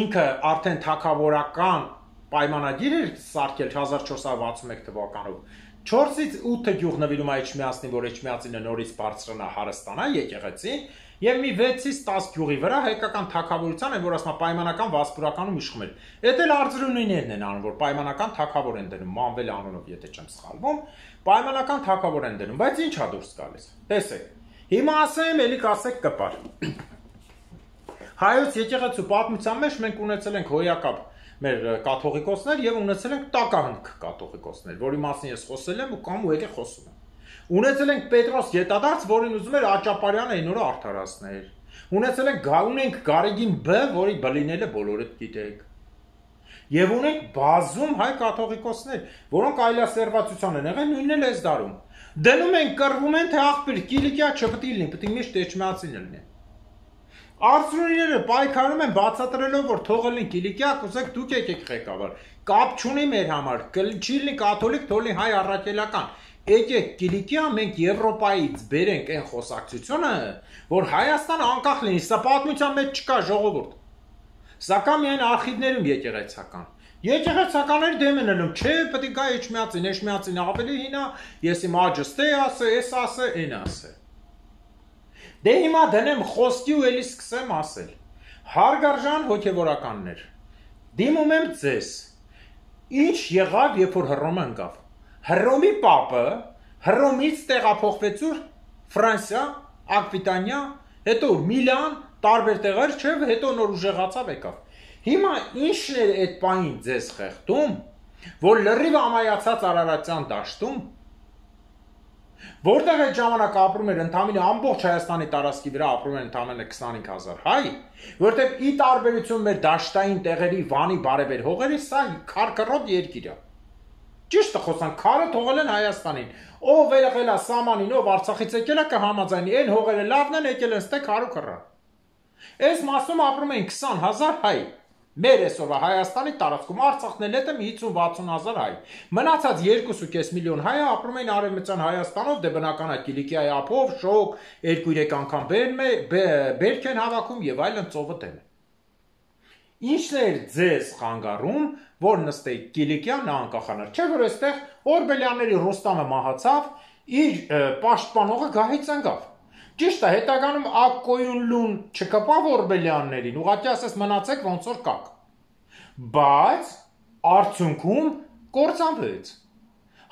ինքը արդեն թագավորական պայմանագիր էր սարքել հազար չորս հարյուր վաթսուն մեկ թվականով, չորսից ութը գյուղ նվիրում է Էջմիածնին, որ Էջմիածինը նորից բարձրանա հարստանա եկեղեցին, եւ մի վեցից տասը գյուղի վրա հայկական թագավորության են, որ ասма պայմանական վասպուրականում իշխում էր։ Էդ էլ արձրունիներն են անում, որ պայմանական թագավոր են դնում, Մանվել անունով, եթե չեմ սխալվում, պայմանական թագավոր են դնում, բայց ի՞նչ է դուրս գալիս։ Տեսեք։ Հիմա ասեմ, ելի կասեք կպար։ Հայոց եկեղեցու պատմության մեջ մենք ունեցել ենք հոյակապ մեր կաթողիկոսներ եւ ունեցել ենք տակահնք կաթողիկոսներ, որի մասին ես խոսել եմ ու կամ ու ելի խոսում եմ։ Ունեցել ենք Պետրոս Գետադարձ, որին ուզում էր Աճապարյանը այն օրը արդարացնել։ Ունեցել ենք ունենք Գարեգին Բ, որի բլիները բոլորը գիտեք։ Եվ ունենք բազում հայ կաթողիկոսներ, որոնք այլասերվածության են եղել նույնն էլ այս դարում։ Դնում են կռվում են թե աղբյուր Կիլիկիա չպետք է լինի, պետք է միշտ Էջմիածին լինի։ Արծրունիները պայքարում են բացատրելով, որ թողել են Կիլիկիա, կուզեք դուք եկեք ղեկավար։ Կապ չունի մեր համար, չի լինի կաթոլիկ, թողնի հայ առաքելական։ Եկեք Կիլիկիա, մենք Եվրոպայից բերենք այն խոսակցությունը, որ Հայաստանը անկախ լինի, սա պատմության մեջ չկա ժողովուրդ։ Սակայն միայն արխիվներում եկեղեցական։ Եկեղեցականների դեմ են ելնում, չէ, պետք է գա Էջմիածին, Էջմիածին ավելի հինա, ես իմ աջստե ասե, ես ասե, այն ասե։ Դե հիմա դնեմ խոսքի ու էլի սկսեմ ասել։ Հարգարժան հոգևորականներ, դիմում եմ ձեզ, ինչ եղավ, երբ որ Հռոմը ընկավ։ Հռոմի պապը Հռոմից տեղափոխվեց ուր Ֆրանսիա, Ակվիտանիա, հետո Միլան, տարբեր տեղեր, չէ, հետո նոր ուժեղացավ եկավ։ Հիմա ինչն էր այդ պահին ձեզ խեղդում, որ լրիվ ամայացած Արարատյան դաշտում, որտեղ այդ ժամանակ ապրում էր ընդամենը ամբողջ Հայաստանի տարածքի վրա ապրում են ընդամենը քսանհինգ հազար հայ, որտեղ ի տարբերություն մեր դաշտային տեղերի Վանի բարևեր հողերի, սա քարքռոտ երկիր է։ Ճիշտ է խոսան, քարը թողել են Հայաստանին։ Ով եղել է սամանին, ով Արցախից եկել է կհամաձայնի, այն հողերը լավն են եկել են ստե քարու քռա։ Այս մասում ապրում են քսան հազար հայ։ Մեր այսօրվա Հայաստանի տարածքում Արցախն էլ հետը հինգ վաթսուն հազար հայ։ Մնացած երկու ու կես միլիոն հայը ապրում են արևմտյան Հայաստանով, դե բնական է Կիլիկիայի ափով, շոկ, երկու երեք անգամ բերք են հավաքում եւ այլն ծովը դեմ է։ Ինչն էր ձեզ խանգարում, որ նստեիք Կիլիկիա նա անկախանար։ Չէ՞ որ այստեղ Օրբելյանների Ռուստամը մահացավ, իր պաշտպանողը գահից ընկավ։ Ճիշտ է, հետագանում ակկոյունլուն չկպավ Օրբելյաններին, ուղղակի ասես մնացեք ոնց որ կաք։ Բայց արդյունքում կործանվեց։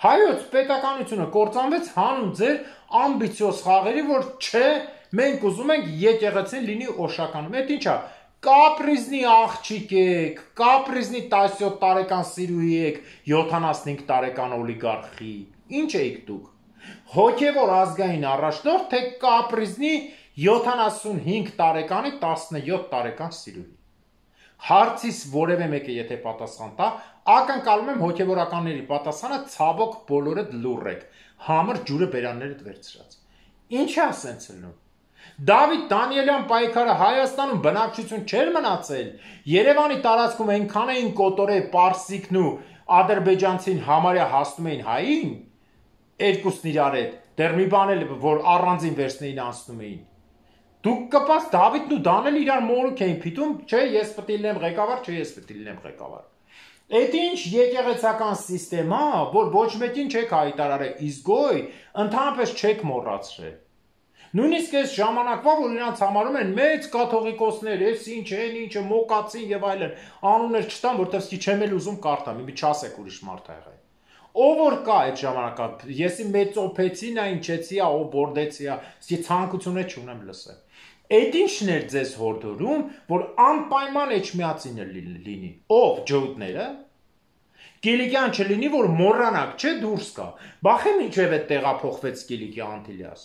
Հայոց պետականությունը կործանվեց հանուն ձեր ամբիցիոզ խաղերի, որ չէ, մենք ուզում ենք եկեղեցին լինի օշականում։ Այդ ի՞նչ է։ Կապրիզնի աղջիկ եք, կապրիզնի տասնյոթ տարեկան սիրուհի եք, յոթանասունհինգ տարեկան օլիգարխի։ Ինչ եք դուք։ Հոգևոր ազգային առաջնորդ, թե կապրիզնի յոթանասունհինգ տարեկանի տասնյոթ տարեկան սիրուհի։ Հարցիս որևէ մեկը եթե պատասխան տա, ակնկալում եմ հոգևորականների պատասխանը ցավոք բոլորդ լուռ եք, համր ջուրը բերաններդ վերցրած։ Ինչ է ասենց լնում։ Դավիթ Դանիելյան պայքարը Հայաստանում բնակչություն չէր մնացել, Երևանի տարածքում այնքան էին կոտորել պարսիկն ու ադրբեջանցին համարյա հասնում էին հային, երկուսն իրար հետ, դեռ մի բան էլ որ առանձին վերցնեին անցնում էին։ Դուք կպած Դավիթն ու Դանիել իրար մորուք էին փիթում, չէ, ես պետք է լինեմ ղեկավար, չէ, ես պետք է լինեմ ղեկավար։ Այդ ինչ եկեղեցական սիստեմա, որ ոչ մեկին չեք հայտարարել, իսկ գոյ, ընդհանրապես չեք մոռացրել։ Նույնիսկ այս ժամանակվա, որ իրանց համարում են մեծ կաթողիկոսներ, ես ինչ են, ինչը մոկացին եւ այլն, անուններ չտամ, որտեվ սկի չեմ էլ ուզում կարդամ, մի չասեք ուրիշ մարդ ա եղել։ Ով որ կա այդ ժամանակա, եսի մեծոփեցին ա, ինչեցի ա, ով բորդեցի ա, սկի ցանկություն չունեմ լսել։ Այդ ինչն էր ձեզ հորդորում, որ անպայման էջմիածինը լինի, ով ջոուտները, Կիլիկյան չլինի, որ մոռանակ, չէ դուրս կա, բախեմ ինչև այդ տեղափոխվեց Կիլիկիա Անտիլիաս։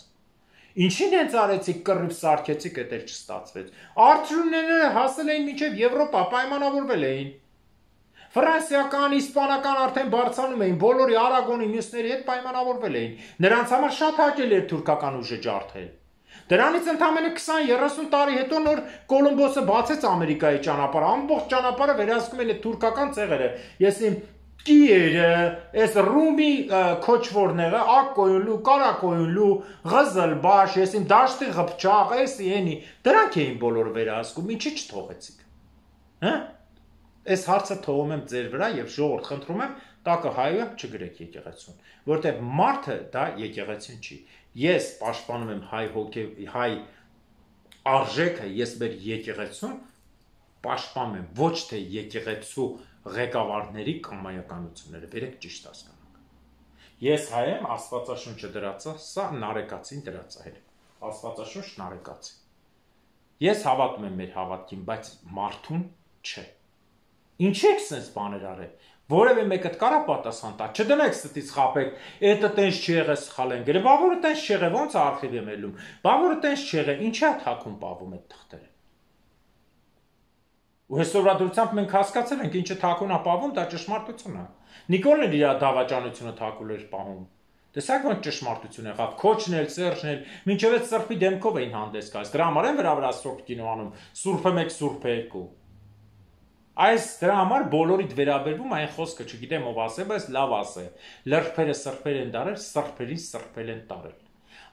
Ինչին հենց արեցիք կռիվ սարքեցիք, էդ էլ չստացվեց։ Արդյունները հասել էին մինչև Եվրոպա, պայմանավորվել էին։ Ֆրանսիական, իսպանական արդեն բարձրանում էին, բոլորի Արագոնի մյուսների հետ պայմանավորվել էին։ Նրանց համար շատ հաճելի էր թուրքական ուժը ջարդել։ Դրանից ընդամենը քսան երեսուն տարի հետո նոր Կոլումբոսը բացեց Ամերիկայի ճանապարհը, ամբողջ ճանապարհը վերահսկում են այդ թուրքական ցեղերը։ Ես իմ Կիերը, այս ռումի քոչվորները, ակոյունլու, կարակոյունլու, ղզլբաշ, ես իմ դաշտի ղփչաղ, էսի էնի, դրանք էին բոլորը վերահսկում, ինչի չթողեցիք։ Հա? Այս հարցը թողում եմ ձեր վրա եւ ժողովուրդ խնդրում եմ տակը հայը չգրեք եկեղեցուն, որտեղ մարդը դա եկեղեցին չի։ Ես պաշտպանում եմ հայ հոգե հայ արժեքը, ես մեր եկեղեցուն պաշտպանում եմ ոչ թե եկեղեցու ղեկավարների կամայականությունները, վերեք ճիշտ հասկանանք։ Ես հայ եմ, Աստվածաշունչը դրածա, սա նարեկացին դրածա հեր։ Աստվածաշունչ նարեկացի։ Ես հավատում եմ մեր հավատքին, բայց մարդուն չէ։ Ինչ եք sense բաներ արել։ Որևէ մեկը կարա պատասխան տա, չդնեք ստից խապեք, էտը տենց չեղե սխալ են գրել, բա որը տենց չեղե, ոնց արխիվ եմ ելում, բա որը տենց չեղե, ինչա թակում պավում այդ թղթերը։ Ու հեսօրադրությամբ մենք հասկացել ենք, ինչը թակուն է պավում, դա ճշմարտություն է։ Նիկոլն էլ իր դավաճանությունը թակուլ էր պահում։ Տեսակ ոնց ճշմարտություն եղավ, քոչն էլ, Սերժն էլ, մինչև այդ սրբի դեմքով էին հանդես գալիս։ Դրա համար են վրա վրա սուրբ կինո անում, սուրբը մեկ, սուրբը երկու։ Այս դրա համար բոլորիդ վերաբերվում այն խոսքը, չգիտեմ ով ասե, բայց լավ ասե։ Լրբերը սրբեր են դարել, սրբերին սրբել են տարել։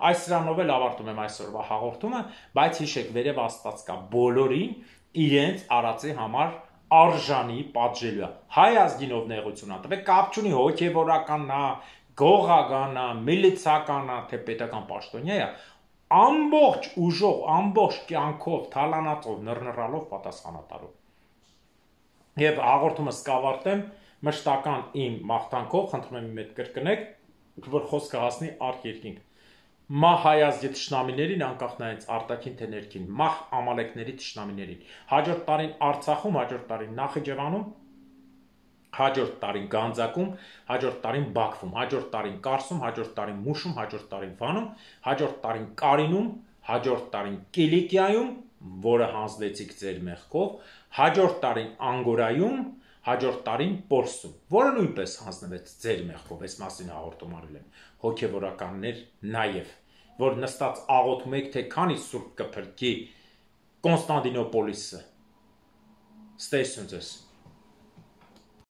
Այս սրանով էլ ավարտում եմ այսօրվա հաղորդումը, բայց հիշեք, վերև Աստված կա բոլորին իրենց արածի համար արժանի պատժելու է։ Հայ ազգինով նեղություն ատվեք, կապ չունի հոգևորականն է, գողական է, միլիցիական է, թե պետական պաշտոնյա է, ամբողջ ուժով, ամբողջ կյանքով, թալանածով, նռնռալով պատասխանատարով։ Եվ հաղորդումը սկավարտեմ մշտական իմ մաղթանքով, խնդրում եմ իմ հետ կրկնեք, որ խոսքը հասնի արդ երկինք։ Մահ հայ ազգի թշնամիներին, անկախ նայած արտաքին թե ներքին, մահ ամալեկների թշնամիներին, հաջորդ տարին Արցախում, հաջորդ տարին Նախիջևանում, հաջորդ տարին Գանձակում, հաջորդ տարին Բաքվում, հաջորդ տարին Կարսում, հաջորդ տարին Մուշում, հաջորդ տարին Վանում, հաջորդ տարին Կարինում, հաջորդ տարին Կիլիկիայում, որը հանձնեցիք ձեր մեղքով, հաջորդ տարին Անգորայում, հաջորդ տարին Պորսում, որը նույնպես հանձնվեց ձեր մեղքով, այս մասին հաղորդում արել եմ, հոգևորականներ նաև, որ նստած աղոթում եք, թե քանի սուրբ կփրկի Կոնստանդինոպոլիսը։ Ստեսություն ձեզ։